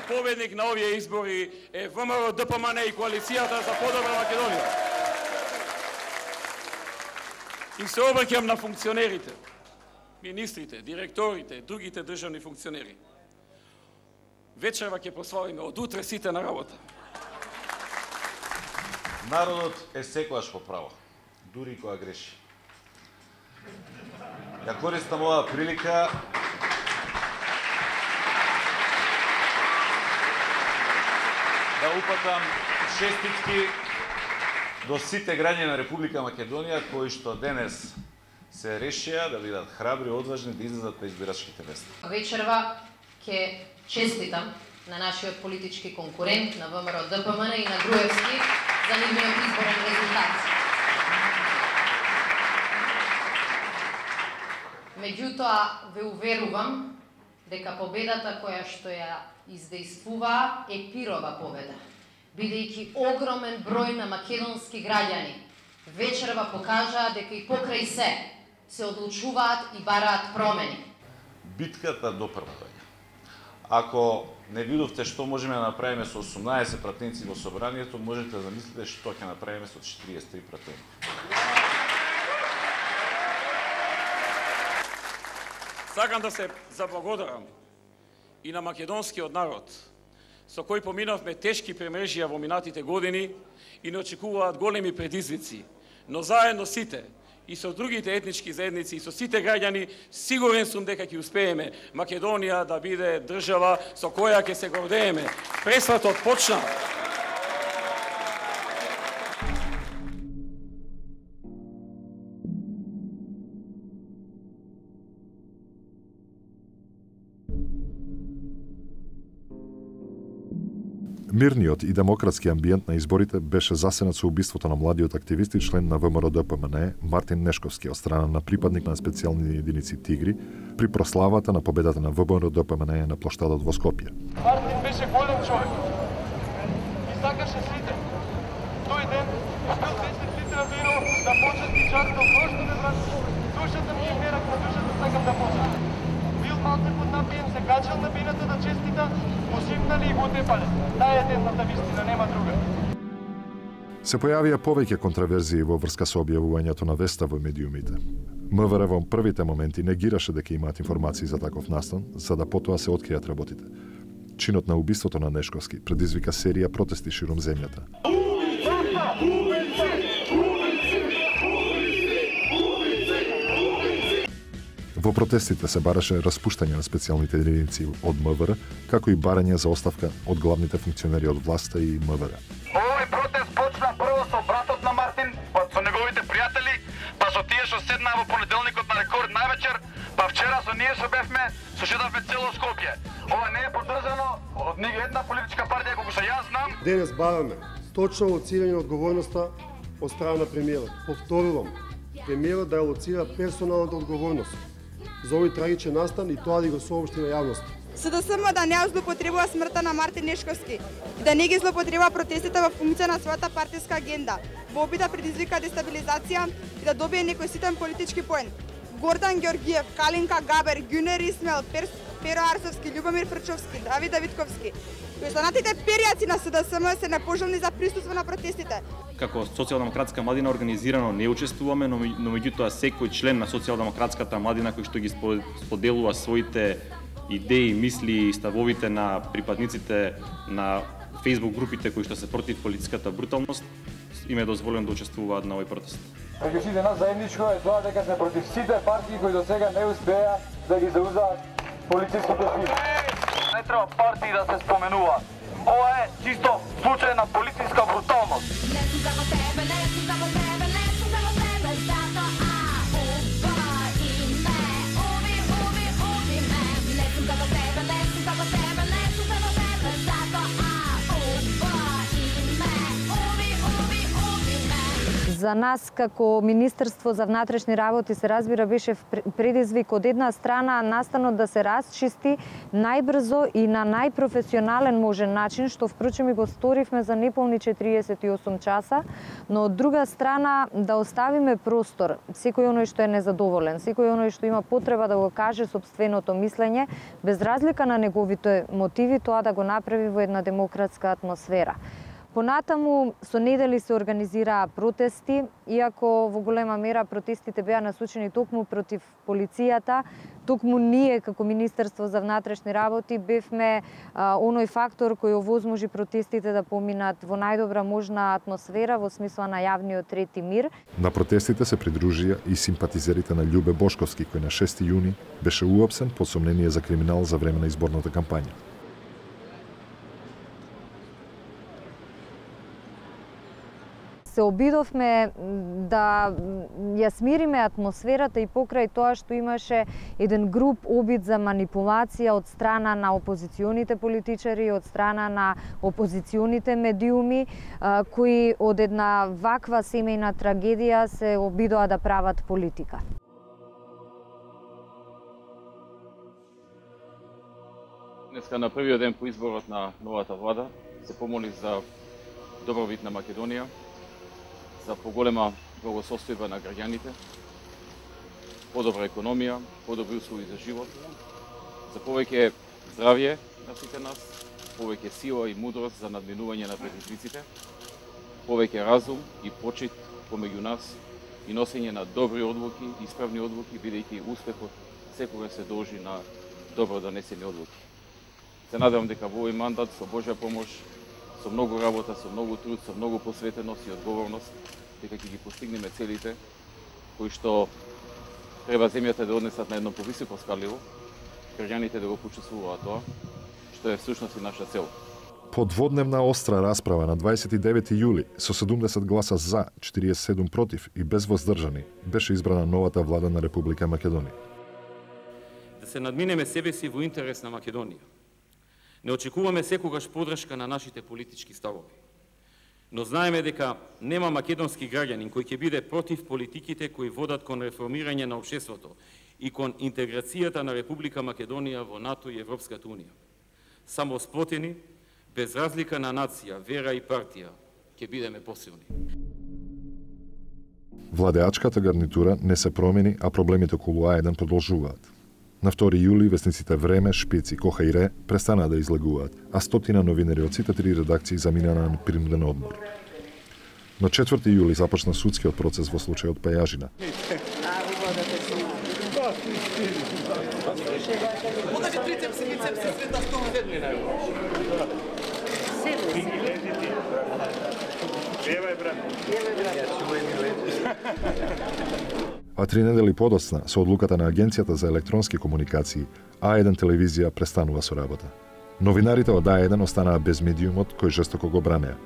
Победник на овие избори е В М Р Д П М Н и коалицијата за подобра Македонија. И се обраќам на функционерите, министрите, директорите, другите државни функционери. Вечерва ќе прославиме од утре сите на работа. Народот е секогаш во право, дури кога греши. Ја користам оваа прилика да упатам честитки до сите граѓани на Република Македонија кои што денес се решија да бидат храбри и одважни да излезат на избирачките места. Вечерва ќе честитам на нашиот политички конкурент на В М Р Д П М Н и на Груевски за нивниот изборен резултат. Меѓутоа ве уверувам дека победата која што ја издействуваа е пирова победа, бидејќи огромен број на македонски граѓани вечерва покажаа дека и покрај се се одлучуваат и бараат промени. Битката до првање. Ако не видовте што можеме да направиме со осумнаесет пратеници во собранието, можете да замислите што ќе направиме со четириесет и три пратеници. Сакам да се заблагодарам и на македонскиот народ, со кој поминавме тешки премрежија во минатите години и не очекуваат големи предизвици, но заедно сите, и со другите етнички заедници, и со сите граѓани, сигурен сум дека ќе успееме Македонија да биде држава со која ќе се гордееме. Пресватот почна. Мирниот и демократски амбиент на изборите беше засенат со убиството на младиот активист и член на ВМРО Д П М Н Мартин Нешковски од страна на припадник на специјални единици Тигри при прославата на победата на ВМРО Д П М Н на плоштадот во Скопје. Мартин беше голем човек и сакаше сите. Тој ден бил десет литра вино да почести чарто, прошто ме брат, душата ми е мерак, на душата сакам да почести. Бил малце под напиен, се качал на бината да честита, му симнали и го тепале. Таа е едната вистина, нема друга. Се појавија повеќе контраверзии во врска со објавувањето на веста во медиумите. М В Р во првите моменти негираше дека имаат информации за таков настан, за да потоа се откријат работите. Чинот на убиството на Нешковски предизвика серија протести ширум земјата. Во протестите се бараше распуштање на специјалните единици од М В Р, како и барање за оставка од главните функционери од власта и М В Р. Овој протест почна прво со братот на Мартин, па со неговите пријатели, па со тие што седнаа во понеделникот на Рекорд највечер, па вчера со ние што бевме, со шедавме цело Скопје. Ова не е поддржано од ни една политичка партија колку што јас знам. Денес бараме точно лоцирање на одговорноста од страна на премиерот. Повторувам, премиерот да ја лоцира персоналната одговорност за овој трагичен настан и тоа да го соопшти на јавноста. С Д С М да не злоупотребува смртта на Мартин Нешковски и да не ги злоупотребува протестите во функција на својата партиска агенда, во обид да предизвика дестабилизација и да добие некој ситен политички поен. Гордан Ѓорѓиев, Калинка Габер, Ѓунер Исмел, Пер, Перо Арсовски, Љубомир Фрчовски, Давид Давидковски, кои останатите перијаци на С Д С М се непожелни за присуство на протестите. Како социјалдемократска младина организирано не учествуваме, но, но меѓутоа секој член на социјалдемократската младина кој што ги споделува своите идеи, мисли и ставовите на припадниците на Facebook групите кои што се против политичката бруталност, им е дозволено да учествуваат на овој протест. Меѓу сите нас заедничко е тоа дека сме против сите партии кои до сега не успеа да ги заузаат полициските сили. Не треба партии да се споменува. Ова е чисто случај на полициска бруталност. За нас како Министерство за внатрешни работи се разбира беше предизвик од една страна настанот да се расчисти најбрзо и на најпрофесионален можен начин, што впрочем и го сторивме за неполни четириесет и осум часа, но од друга страна да оставиме простор секој оној што е незадоволен, секој оној што има потреба да го каже сопственото мислење, без разлика на неговите мотиви, тоа да го направи во една демократска атмосфера. Понатаму со недели се организираа протести, иако во голема мера протестите беа насочени токму против полицијата, токму ние како Министерство за внатрешни работи бевме а, оној фактор кој овозможи протестите да поминат во најдобра можна атмосфера во смисла на јавниот ред и мир. На протестите се придружија и симпатизерите на Љубе Бошковски, кој на шести јуни беше уапсен по сомнение за криминал за време на изборната кампања. Се обидовме да ја смириме атмосферата и покрај тоа што имаше еден груб обид за манипулација од страна на опозиционите политичари, од страна на опозиционите медиуми, кои од една ваква семејна трагедија се обидоа да прават политика. Днеска на првиот ден по изборот на новата влада се помоли за добробит на Македонија, за поголема благосостојба на граѓаните, подобра економија, подобри услови за живот, за повеќе здравје на сите нас, повеќе сила и мудрост за надминување на предизвиците, повеќе разум и почит помеѓу нас и носење на добри одлуки, исправни одлуки, бидејќи успехот секогаш се должи на добро донесени одлуки. Се надевам дека во овој мандат со Божја помош, со многу работа, со многу труд, со многу посветеност и одговорност, дека ќе ги постигнеме целите кои што треба земјата да однесат на едно повисоко скаливо, граѓаните да го почувствуваат тоа, што е всушност и наша цел. По дводневна остра расправа на дваесет и девети јули со седумдесет гласа за, четириесет и седум против и без воздржани беше избрана новата влада на Република Македонија. Да се надминеме себе си во интерес на Македонија. Не очекуваме секогаш подршка на нашите политички ставови. Но знаеме дека нема македонски граѓанин кој ќе биде против политиките кои водат кон реформирање на општеството и кон интеграцијата на Република Македонија во НАТО и Европската Унија. Само сплотени, без разлика на нација, вера и партија, ќе бидеме посилни. Владеачката гарнитура не се промени, а проблемите околу А еден продолжуваат. На втори јули весниците Време, Шпиц и Коха и Ре престанаа да излегуваат, а стотина новинари од сите три редакции заминаа на принуден одмор. На четврти јули започна судскиот процес во случајот Пајажина. А три недели подоцна, со одлуката на Агенцијата за електронски комуникации, А еден телевизија престанува со работа. Новинарите од А еден останаа без медиумот кој жестоко го бранеа.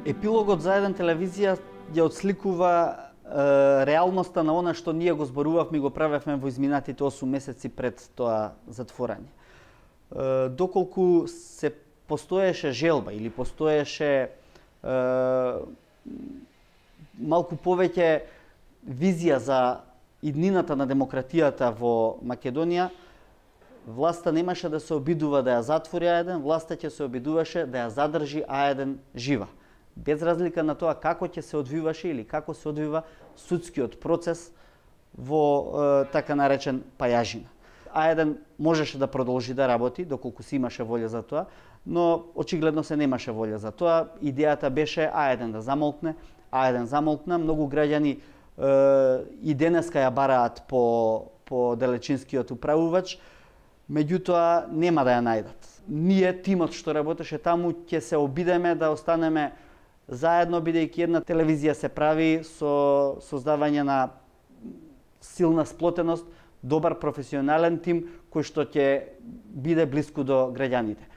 Епилогот за А еден телевизија ја отсликува е, реалноста на она што ние го зборувавме и го правевме во изминатите осум месеци пред тоа затворање. Е, доколку се постоеше желба или постоеше е, малку повеќе визија за иднината на демократијата во Македонија, власта немаше да се обидува да ја затвори А еден, власта ќе се обидуваше да ја задржи А еден жива. Без разлика на тоа како ќе се одвиваше или како се одвива судскиот процес во е, така наречен Пајажина. А еден можеше да продолжи да работи, доколку си имаше волја за тоа, но очигледно се немаше волја за тоа. Идејата беше А еден да замолкне, А еден замолкна, многу граѓани е, и денеска ја бараат по, по далечинскиот управувач, меѓутоа нема да ја најдат. Ние, тимот што работеше таму, ќе се обидеме да останеме заедно, бидејќи една телевизија се прави со создавање на силна сплотеност, добар професионален тим кој што ќе биде блиску до граѓаните.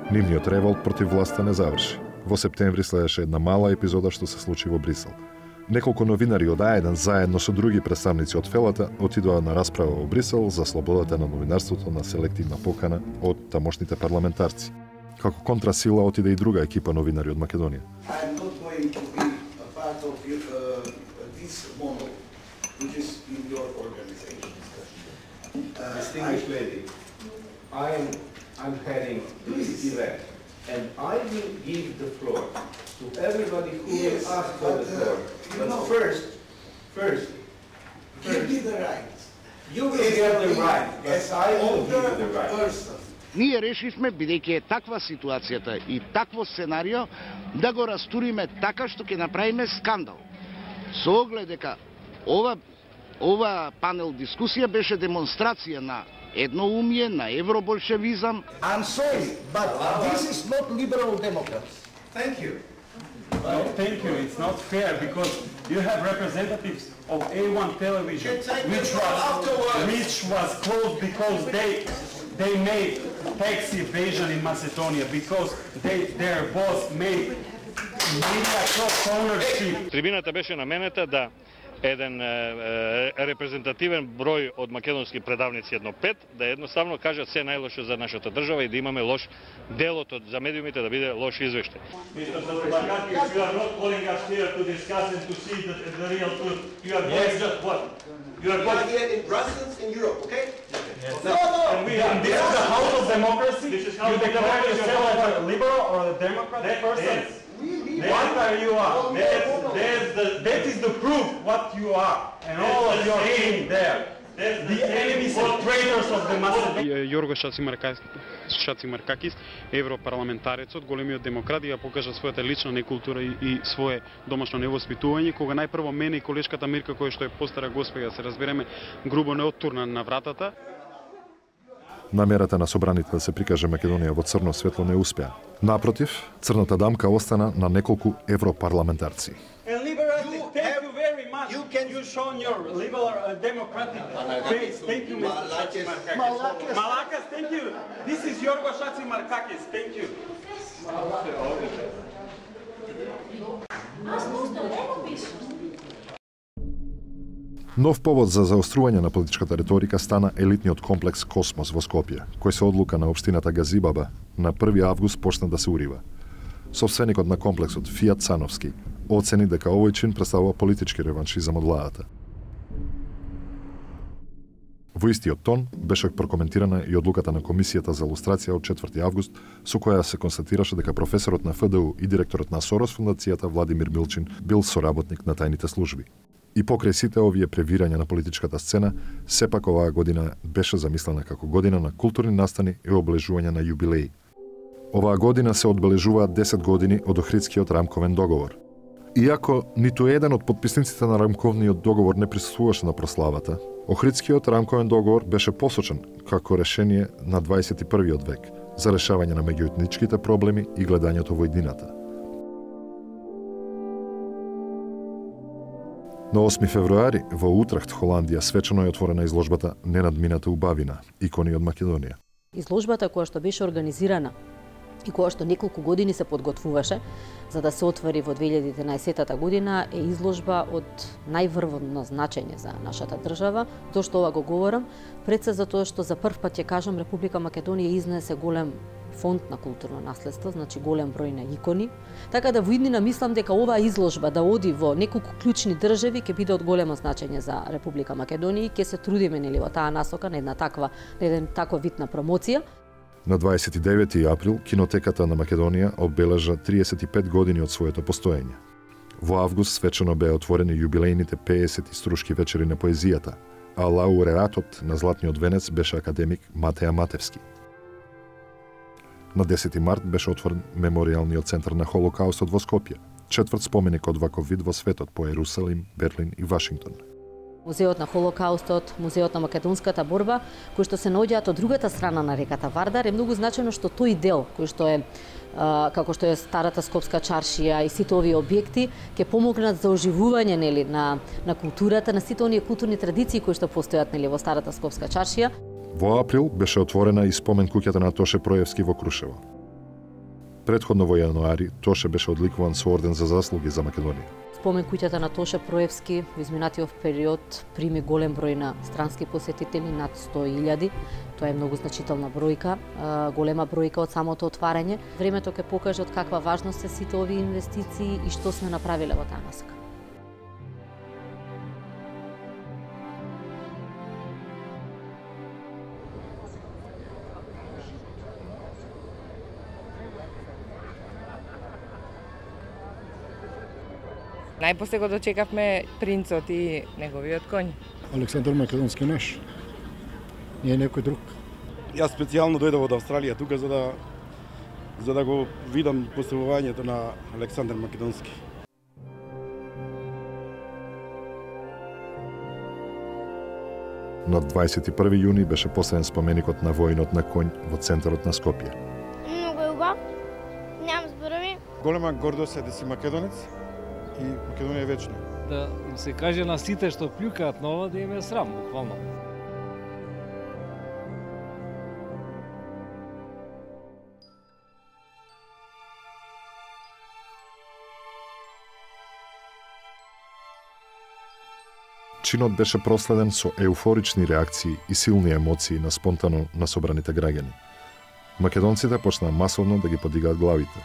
Нивниот револт против власта не заврши. Во септември следеше една мала епизода што се случи во Брисел. Неколку новинари од А еден заедно со други представници од Фелата отидоа на расправа во Брисел за слободата на новинарството на селективна покана од тамошните парламентарци. Како контрасила отиде и друга екипа новинари од Македонија. I'm heading this event, and I will give the floor to everybody who yes, will ask for the floor. But, but first, first, give me the right. You will get the right, but I will give you the right. Ние решивме, бидејќи е таква ситуацијата и такво сценарио, да го растуриме така што ќе направиме скандал. Со оглед дека ова, ова панел дискусија беше демонстрација на едноумие, на евроболшевизам. I'm sorry, but this is not liberal democrats. Thank you. No, thank you. It's not fair because you have representatives of A one television, which was which was closed because they they made tax evasion in Macedonia because they their boss made media cross ownership. Трибината беше наменета да еден е, е, репрезентативен број од македонски предавници, едно пет, да едноставно кажат се најлошо за нашата држава и да имаме лош делот од за медиумите да биде лош извештај. Mister Zaparakakis, you are not calling us here to discuss and to see the, the real truth. You are going just what? You are going here in Brussels, in Europe, okay? Yes. No, no. And we have, this is the house of democracy. This is how you declare yourself as a liberal or a democrat person. What are you are? That's, that's the, that is the proof what you are, and all of your team there. The enemies and traitors of the Macedonian. Јорго Шацимаркакис, европарламентарецот, големиот демократ, ја покажа својата лична некултура и, и свое домашно невоспитување, кога најпрво мене и колешката Мирка, која што е постара госпеја, се разбереме, грубо не оттурна на вратата. Намерата на собраните да се прикаже Македонија во црно светло не успеа. Напротив, црната дамка остана на неколку европарламентарци. And liberal, thank you very much. You can you shown your liberal uh, democratic face. Thank you, Mister Šacimarkakis. Malakas, thank you. This is Jorgo Šacimarkakis. Thank you. Нов повод за заострување на политичката риторика стана елитниот комплекс Космос во Скопје, кој се одлука на општината Газибаба на први август почна да се урива. Собственикот на комплексот, Фијат Цановски, оцени дека овој чин представува политички реваншизам од владата. Во истиот тон беше прокоментирана и одлуката на Комисијата за лустрација од четврти август, со која се констатираше дека професорот на Ф Д У и директорот на Сорос фундацијата Владимир Милчин бил соработник на тајните служби. И покрај сите овие превирања на политичката сцена, сепак оваа година беше замислена како година на културни настани и обележување на јубилеи. Оваа година се одбележуваат десет години од Охридскиот рамковен договор. Иако ниту еден од подписниците на рамковниот договор не присуствуваше на прославата, Охридскиот рамковен договор беше посочен како решение на дваесет и првиот век за решавање на меѓуетничките проблеми и гледањето во иднината. На осми февруари во Утрехт, Холандија, свечено е отворена изложбата Ненадмината убавина, икони од Македонија. Изложбата која што беше организирана и која што неколку години се подготвуваше за да се отвори во две илјади и единаесетта година, е изложба од најврвно значење за нашата држава. Зошто ова го говорам? Пред се за тоа што за прв пат ќе кажам Република Македонија изнесе голем фонд на културно наследство, значи голем број на икони. Така да во иднина мислам дека оваа изложба да оди во неколку клучни држави ќе биде од големо значење за Република Македонија и ќе се трудиме нели во таа насока на една таква, на еден таков вид на промоција. На дваесет и девети април Кинотеката на Македонија обележа триесет и пет години од своето постоење. Во август свечено беа отворени јубилејните пеесет иструшки вечери на поезијата, а лауреатот на Златниот венец беше академик Матеја Матевски. На десети март беше отворен Меморијалниот центар на Холокаустот во Скопје, четврт споменик од ваков вид во светот по Ерусалим, Берлин и Вашингтон. Музеот на Холокаустот, Музеот на македонската борба, кои што се наоѓаат од другата страна на реката Вардар, е многу значено што тој дел, кој што е а, како што е старата Скопска чаршија и сите овие објекти, ќе помогнат за оживување нели на на културата, на сите оние културни традиции кои што постојат нели во старата Скопска чаршија. Во април беше отворена и спомен куќата на Тоше Проевски во Крушево. Предходно во јануари Тоше беше одликуван со орден за заслуги за Македонија. Спомен куќата на Тоше Проевски во изминатиот период прими голем број на странски посетители, над сто илјади. Тоа е многу значителна бројка, голема бројка од самото отварање. Времето ќе покаже од каква важност се сите овие инвестиции и што сме направиле во таа насока. Најпосле го дочекавме принцот и неговиот коњ. Александар Македонски наш. Не е некој друг. Јас специјално дојдов од Австралија тука за да за да го видам поставувањето на Александар Македонски. На дваесет и први јуни беше поставен споменикот на воинот на коњ во центарот на Скопје. Многу е убав. Немам зборови. Голема гордост е да си македонец и Македонија е вечна. Да им се каже на сите што плюкаат на ова да им е срам, буквално. Чинот беше проследен со еуфорични реакции и силни емоции на спонтано насобраните граѓани. Македонците почнаа масовно да ги подигаат главите.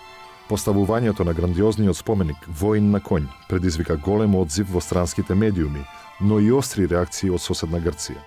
Поставувањето на грандиозниот споменик Воин на коњ предизвика голем одзив во странските медиуми, но и остри реакции од соседна Грција.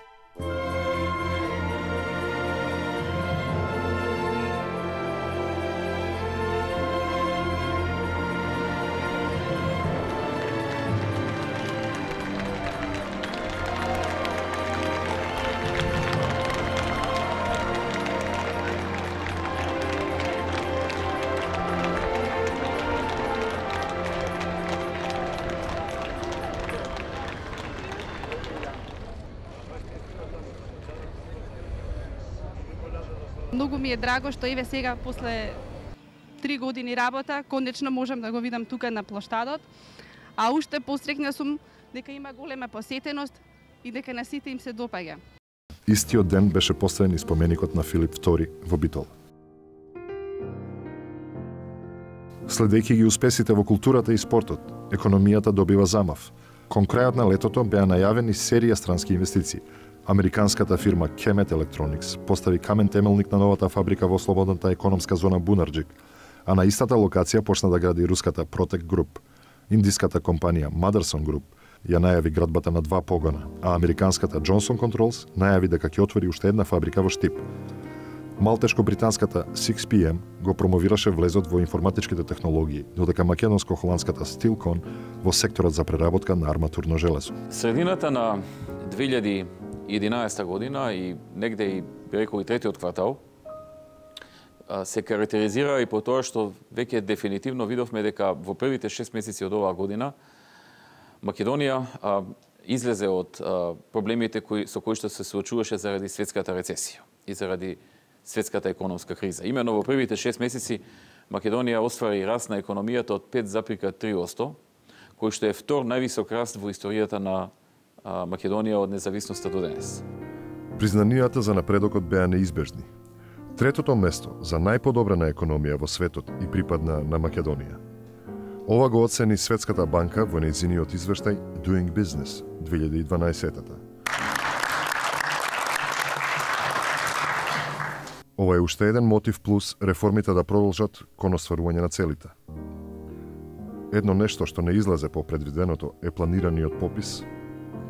Многу ми е драго што еве сега после три години работа конечно можам да го видам тука на плоштадот, а уште посрекна сум дека има голема посетеност и дека на сите им се допаѓа. Истиот ден беше поставен и споменикот на Филип втори во Битол. Следејќи ги успесите во културата и спортот, економијата добива замав. Кон крајот на летото беа најавени серија странски инвестиции. Американската фирма Kemet Electronics постави камен темелник на новата фабрика во слободната економска зона Бунарџик, а на истата локација почна да гради руската Protec Group. Индиската компанија Motherson Group ја најави градбата на два погона, а американската Johnson Controls најави дека ќе отвори уште една фабрика во Штип. Малтешко-британската сикс пи ем го промовираше влезот во информатичките технологии, додека македонско-холандската Stilcon во секторот за преработка на арматурно железо. Средината на две илјади и единаесета година и негде и би рекол и третиот квартал се карактеризира и по тоа што веќе дефинитивно видовме дека во првите шест месеци од оваа година Македонија а, излезе од а, проблемите кои, со кои што се соочуваше заради светската рецесија и заради светската економска криза. Имено во првите шест месеци Македонија оствари раст на економијата од пет зарез три одсто, кој што е втор највисок раст во историјата на а, Македонија од независноста до денес. Признанијата за напредокот беа неизбежни. Третото место за најподобрена економија во светот и припадна на Македонија. Ова го оцени Светската банка во нејзиниот извештај Doing Business две илјади и дванаесета. Ова е уште еден мотив плюс реформите да продолжат кон остварување на целите. Едно нешто што не излезе по предвиденото е планираниот попис,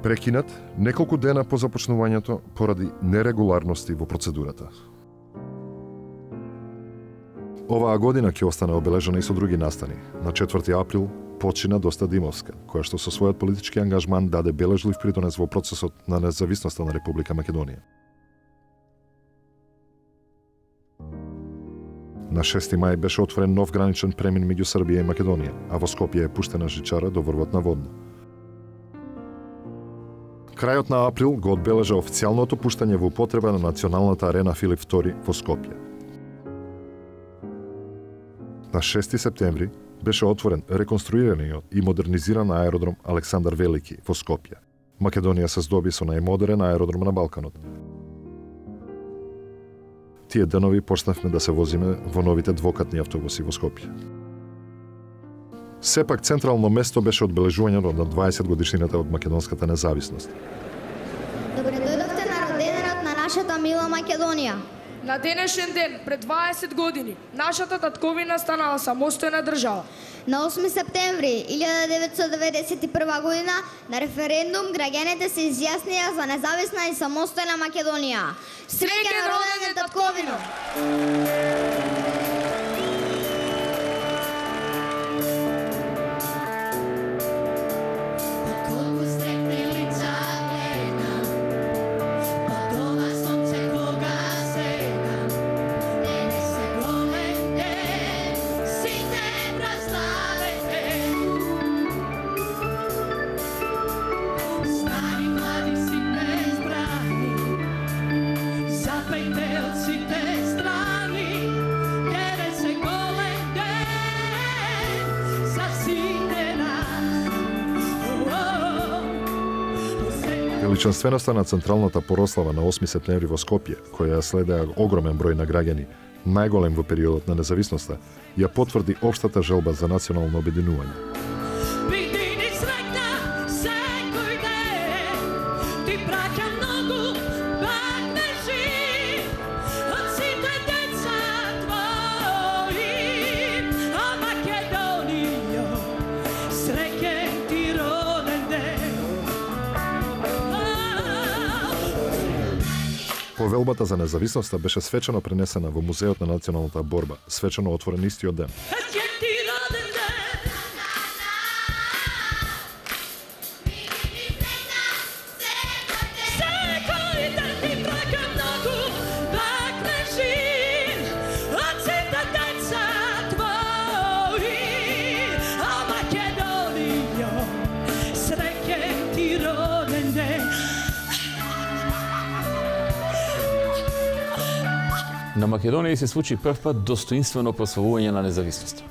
прекинат неколку дена по започнувањето поради нерегуларности во процедурата. Оваа година ќе остане обележана и со други настани. На четврти април почина Доста Димовска, која што со својот политички ангажман даде бележлив придонес во процесот на независноста на Република Македонија. На шести мај беше отворен нов граничен премин меѓу Србија и Македонија, а во Скопје е пуштена жичара до врвот на Водно. Крајот на април го одбележа официјалното пуштање во употреба на националната арена Филип втори во Скопје. На шести септември беше отворен реконструираниот и модернизиран аеродром Александар Велики во Скопје. Македонија се здоби со најмодерен аеродром на Балканот. Тие денови почнавме да се возиме во новите двокатни автобуси во Скопје. Сепак централно место беше одбележувањето на дваесет годишнината од македонската независност. Добре дојдовте на роденденот на нашата мила Македонија. На денешен ден, пред дваесет години, нашата татковина станала самостојна држава. На осми септември илјада деветстотини деветдесет и прва година на референдум граѓаните се изјаснија за независна и самостојна Македонија. Среќен роденден татковино! Величанственоста на централната порослава на осми септември во Скопје, која ја следеа огромен број на граѓани, најголем во периодот на независноста, ја потврди општата желба за национално обединување. Повелбата за независноста беше свечено пренесена во Музеот на националната борба, свечено отворен истиот ден. На Македонија се случи прв пат достоинствено прославување на независноста.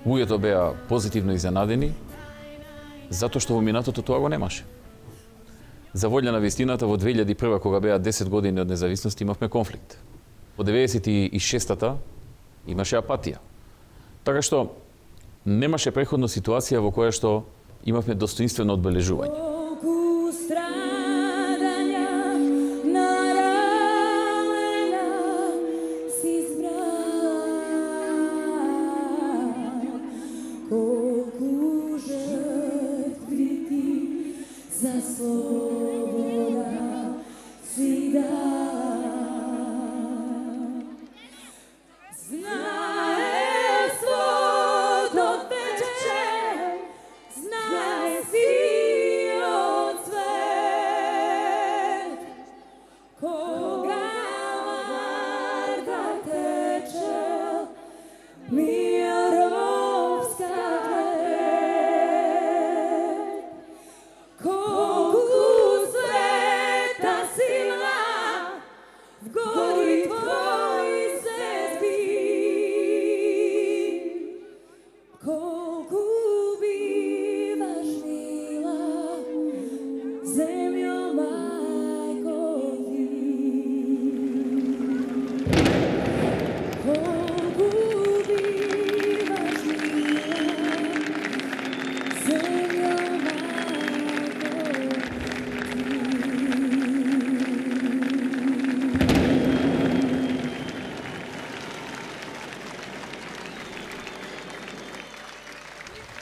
Луѓето беа позитивно изненадени, затоа што во минатото тоа го немаше. За волја на вистината, во две илјади и прва, кога беа десет години од независност, имавме конфликт. Во деветдесет и шестата имаше апатија. Така што немаше преходна ситуација во која што имавме достоинствено одбележување.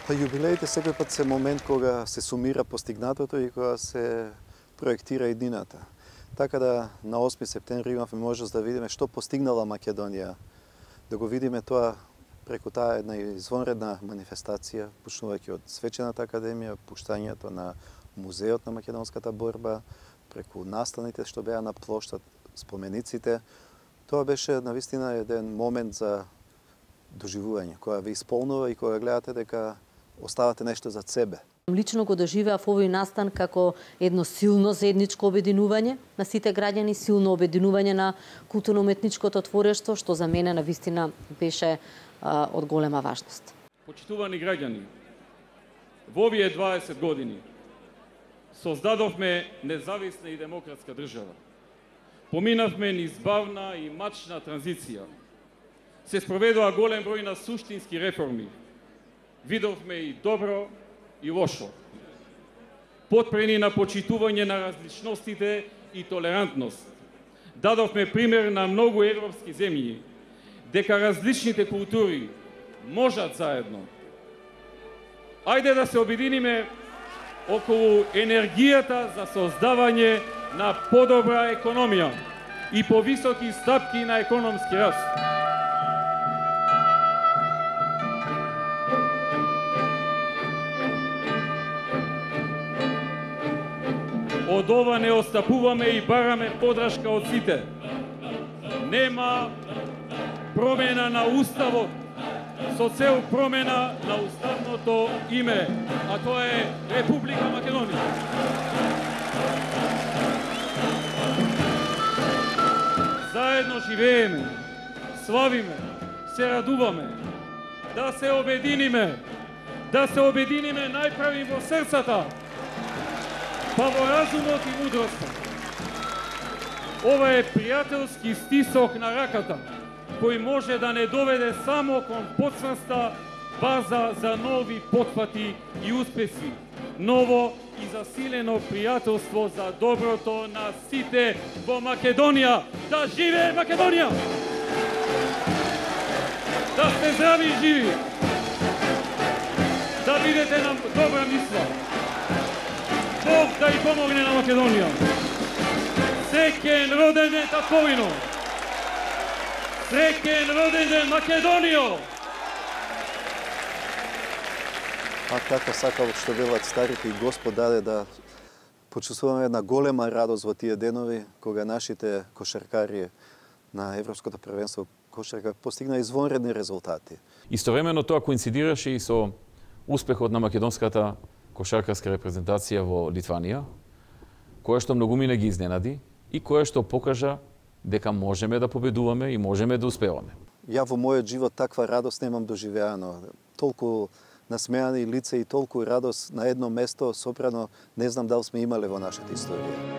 Па јубилеите секој пат се момент кога се сумира постигнатото и кога се проектира иднината. Така да на осми септември имавме можност да видиме што постигнала Македонија, да го видиме тоа преку таа една извонредна манифестација, почнувајќи од Свечената академија, пуштањето на музеот на македонската борба, преку настаните што беа на плоштад, спомениците. Тоа беше навистина еден момент за доживување, која ве исполнува и кога гледате дека оставате нешто за себе. Лично го доживеав овој настан како едно силно заедничко обединување на сите граѓани, силно обединување на културно-уметничкото творештво, што за мене навистина беше а, од голема важност. Почитувани граѓани, во овие дваесет години создадовме независна и демократска држава. Поминавме низ бавна и мачна транзиција. Се спроведува голем број на суштински реформи. Видовме и добро и лошо. Потпрени на почитување на различностите и толерантност. Дадовме пример на многу европски земји, дека различните култури можат заедно. Ајде да се обединиме околу енергијата за создавање на подобра економија и повисоки стапки на економски раст. Од ова не остапуваме и бараме подршка од сите. Нема промена на уставот со цел промена на уставното име, а тоа е Република Македонија. Заедно живееме, славиме, се радуваме, да се обединиме, да се обединиме најправи во срцата, па во разумот и мудроста. Ова е пријателски стисок на раката, кој може да не доведе само кон подсврста база за нови потфати и успеси, ново и засилено пријателство за доброто на сите во Македонија. Да живее Македонија! Да сте здрави и живи! Да бидете нам добра мисла! Бог да и помогне на Македонија. Среќен роден ден татковино. Среќен роден ден Македонијо. А така сакал што велат старите и Господ даде да почувствуваме една голема радост во тие денови кога нашите кошаркари на Европското првенство кошарка постигна извонредни резултати. Истовремено тоа коинцидираше и со успехот на македонската кошаркарска репрезентација во Литванија, која што многумина ги изненади и која што покажа дека можеме да победуваме и можеме да успеваме. Ја во мојот живот таква радост немам доживеано. Толку насмеани лица и толку радост на едно место сопрано не знам дали сме имале во нашата историја.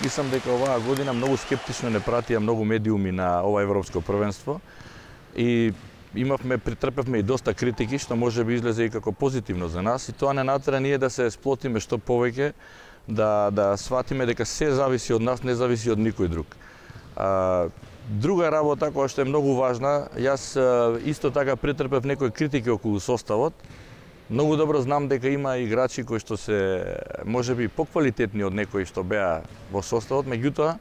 Мислам дека оваа година многу скептично не пратија многу медиуми на ова европско првенство и имавме, притрпевме и доста критики, што може би излезе и како позитивно за нас, и тоа не натера ние да се сплотиме што повеќе, да, да сватиме дека се зависи од нас, не зависи од никој друг. А, друга работа која што е многу важна, јас исто така притрпев некои критики околу составот. Многу добро знам дека има играчи кои што се можеби поквалитетни од некои што беа во составот, меѓутоа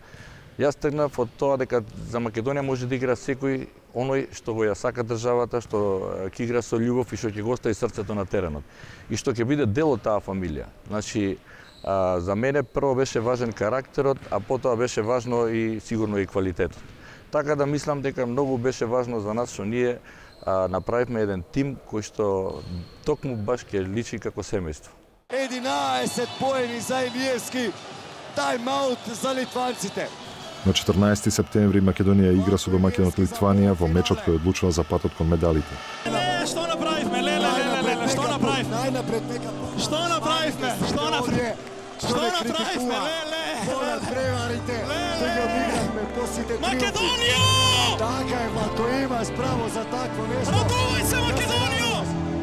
јас тргнав од тоа дека за Македонија може да игра секој оној што го ја сака државата, што ќе игра со љубов и што ќе го остави срцето на теренот и што ќе биде дел од таа фамилија. Значи, а, за мене прво беше важен карактерот, а потоа беше важно и сигурно и квалитетот. Така да мислам дека многу беше важно за нас што ние а, направивме еден тим кој што токму баш ќе личи како семејство. единаесет поени за Илиевски, тајм-аут за литванците. На четрнаесети септември Македонија игра со домаќинот Литванија во мечот кој одлучува за патот кон медалите. Леле, што направивме? Леле, леле, леле, што направивме? Најнапред нека. Што направивме? Што направивме? Што направивме? Леле, полат преварите. Што ги обигравме посите триумфи. Македонија! Така е, Владко, имаш право за такво нешто. Радувај се, Македонија!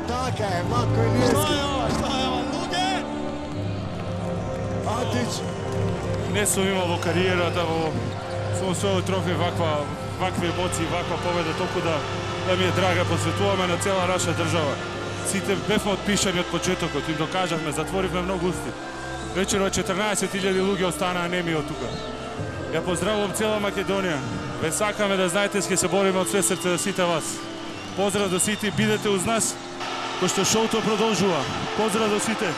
Така е, Владко Илиевски. Што е ова? Што е ова? Луѓе? Атич. Не сум имал во кариерата во сум освоил трофеј ваква вакви емоции, ваква победа, толку да да ми е драга, посветуваме на цела наша држава. Сите бевме отпишани од почетокот, им докажавме, затворивме многу усти. Вечерва четрнаесет илјади луѓе останаа неми од тука. Ја поздравувам цела Македонија. Ве сакаме да знаете, ќе се бориме од све срце за сите вас. Поздрав до сите, бидете уз нас, кој што шоуто продолжува. Поздрав до сите.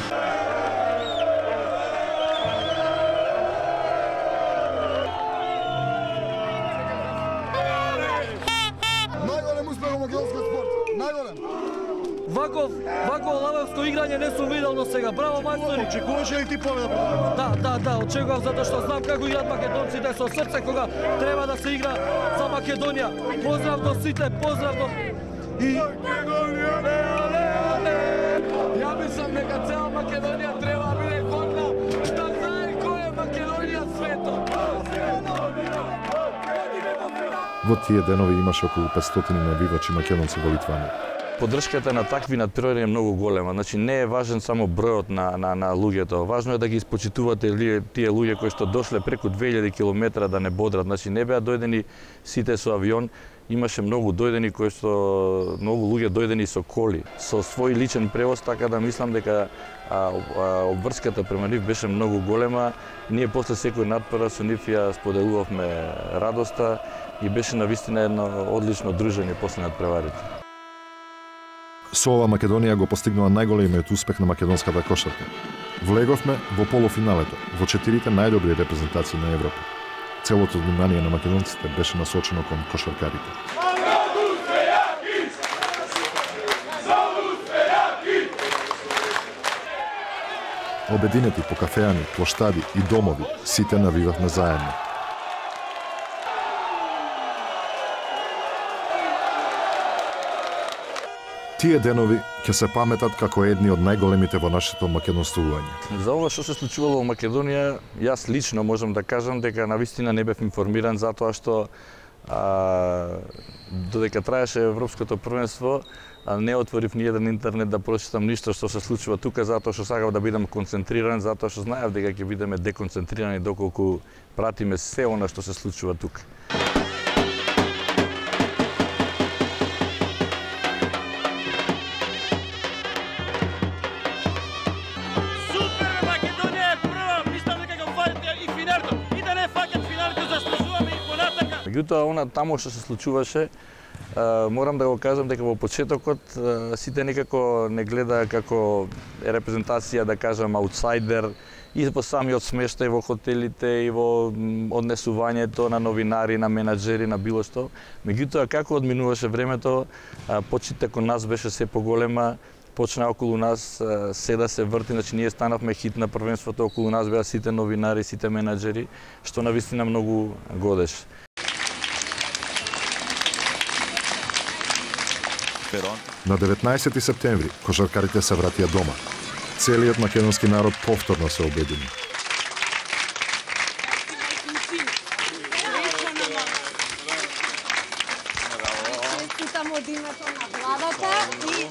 Ваков, ваков лавевско играње не сум видел до сега. Браво, мајстори! Очекуваше ли ти победа? Да, да, да, очекував затоа што знам како играат македонците со срце кога треба да се игра за Македонија. Поздрав до сите, поздрав до и Македонија, ле, ле, ја мислам дека цела Македонија треба да биде годна да знае кој е Македонија светот. Во тие денови имаше околу петстотини навивачи македонци во Литванија. Поддршката на такви надпревари е многу голема. Значи не е важен само бројот на на на луѓето. Важно е да ги испочитувате тие луѓе кои што дошле преку две илјади километра да не бодрат. Значи не беа дојдени сите со авион. Имаше многу дојдени кои што многу луѓе дојдени со коли, со свој личен превоз, така да мислам дека а, а, обврската према нив беше многу голема. Ние после секој надпревар со нив ја споделувавме радоста и беше навистина едно одлично дружење после надпреварите. Со ова Македонија го постигнува најголемиот успех на македонската кошарка. Влеговме во полуфиналето, во четирите најдобри репрезентации на Европа. Целото внимание на македонците беше насочено кон кошаркарите. Обединети по кафеани, плоштади и домови, сите навивавме заедно. Тие денови ќе се паметат како едни од најголемите во нашето македонствување. За ова што се случувало во Македонија, јас лично можам да кажам дека навистина не бев информиран затоа што а, додека траеше европското првенство, а не отворив ни еден интернет да прочитам ништо што се случува тука, затоа што сакав да бидам концентриран, затоа што знаев дека ќе бидеме деконцентрирани доколку пратиме се она што се случува тука. Меѓутоа, она тамо што се случуваше, морам да го кажам дека во почетокот сите некако не гледа како репрезентација, да кажам, аутсайдер, и во самиот смештај во хотелите и во однесувањето на новинари, на менаџери, на било што. Меѓутоа, како одминуваше времето, почитта кон нас беше се поголема, почна околу нас се да се врти, значи ние станавме хит на првенството, околу нас беа сите новинари, сите менаџери, што навистина многу годеше. На деветнаесети септември кошаркарите се вратија дома. Целиот македонски народ повторно се обедини. времето на владата и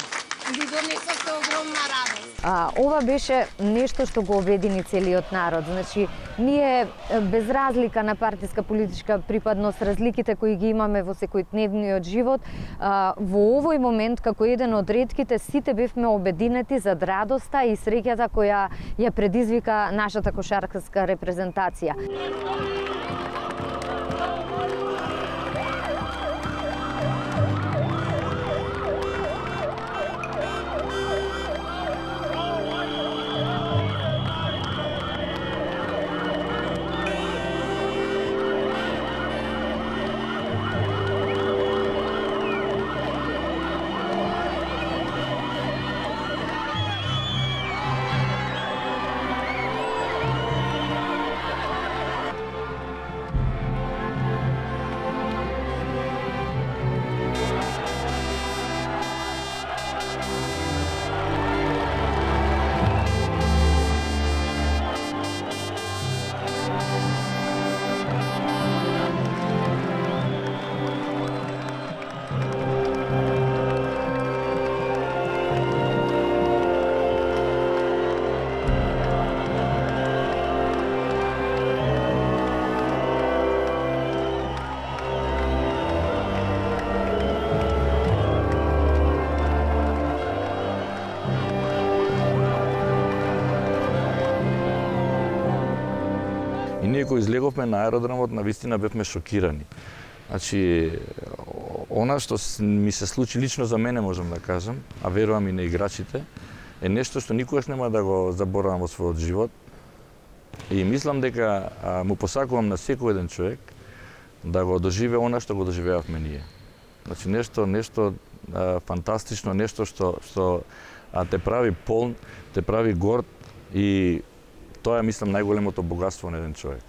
ви донесовте огромна радост. А, ова беше нешто што го обедини целиот народ. Значи, ние без разлика на партиска политичка припадност, разликите кои ги имаме во секојдневниот живот, а, во овој момент како еден од ретките сите бевме обединети за радоста и среќата која ја предизвика нашата кошаркарска репрезентација. И ние кои излеговме на аеродромот, навистина бевме шокирани. Значи, она што ми се случи лично за мене, можам да кажам, а верувам и на играчите, е нешто што никогаш нема да го заборавам во својот живот. И мислам дека а, му посакувам на секој еден човек да го доживее она што го доживеавме ние. Значи, нешто, нешто а, фантастично, нешто што, што а, те прави полн, те прави горд и тоа е, мислам, најголемото богатство на еден човек.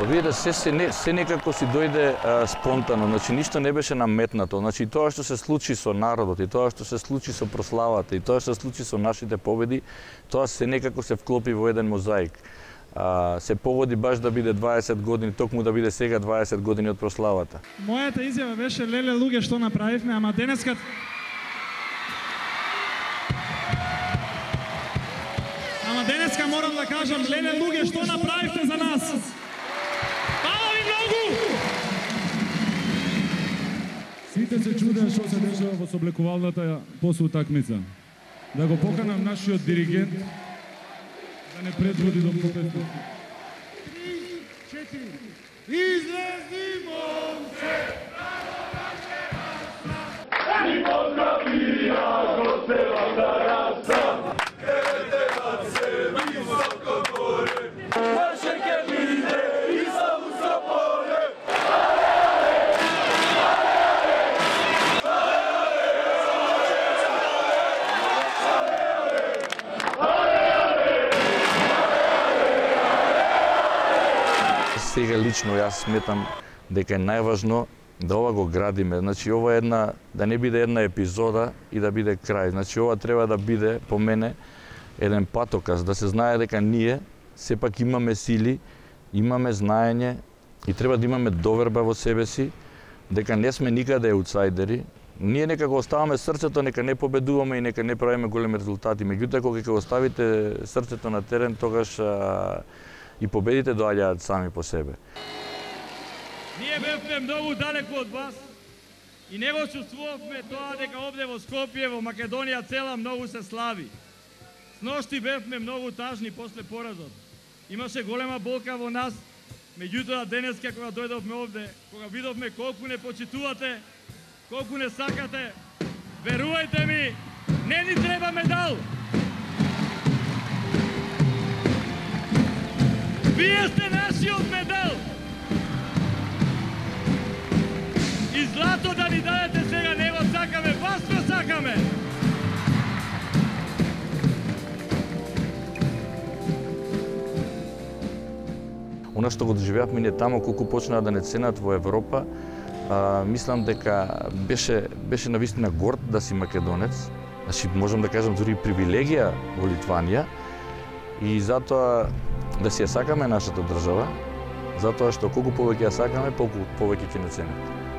Видите, се, се, не, се некако си дојде а, спонтано, значи ништо не беше наметнато. Значи тоа што се случи со народот, и тоа што се случи со прославата, и тоа што се случи со нашите победи, тоа се некако се вклопи во еден мозаик. А, се погоди баш да биде дваесет години, токму да биде сега дваесет години од прославата. Мојата изјава беше: леле луѓе, што направивме, ама денеска Ама денеска морам да кажам: леле луѓе, што направивте за нас. Сите се чудеа што се дешава во соблекувалната после утакмица. Да го поканам нашиот диригент да не предводи до попетот. Три, четири. Излези момче! Ни поздравија го целата раса, каде на се високо горе, наше ке биде и за усопоре. Сега лично јас сметам дека е најважно да ова го градиме. Значи ова е една, да не биде една епизода и да биде крај. Значи ова треба да биде по мене еден патоказ, да се знае дека ние сепак имаме сили, имаме знаење и треба да имаме доверба во себе си, дека не сме никаде аутсайдери. Ние нека го оставаме срцето, нека не победуваме и нека не правиме големи резултати. Меѓутоа кога ќе го оставите срцето на терен, тогаш а, и победите доаѓаат сами по себе. Ние бевме многу далеку од вас и не го чувствувавме тоа дека овде во Скопје, во Македонија цела многу се слави. Сношти бевме многу тажни после поразот. Имаше голема болка во нас Меѓутоа денеска кога дојдовме овде, кога видовме колку не почитувате, колку не сакате, верувајте ми, не ни треба медал. Вие сте нашиот медал. И злато да ни дадете сега не го сакаме, вас го сакаме. Она што го доживеавме ние тамо, колку почнаа да не ценат во Европа, а, мислам дека беше беше навистина горд да си македонец. Значи можам да кажам дури привилегија во Литванија и затоа да си ја сакаме нашата држава, затоа што колку повеќе ја сакаме, колку повеќе ќе не ценат.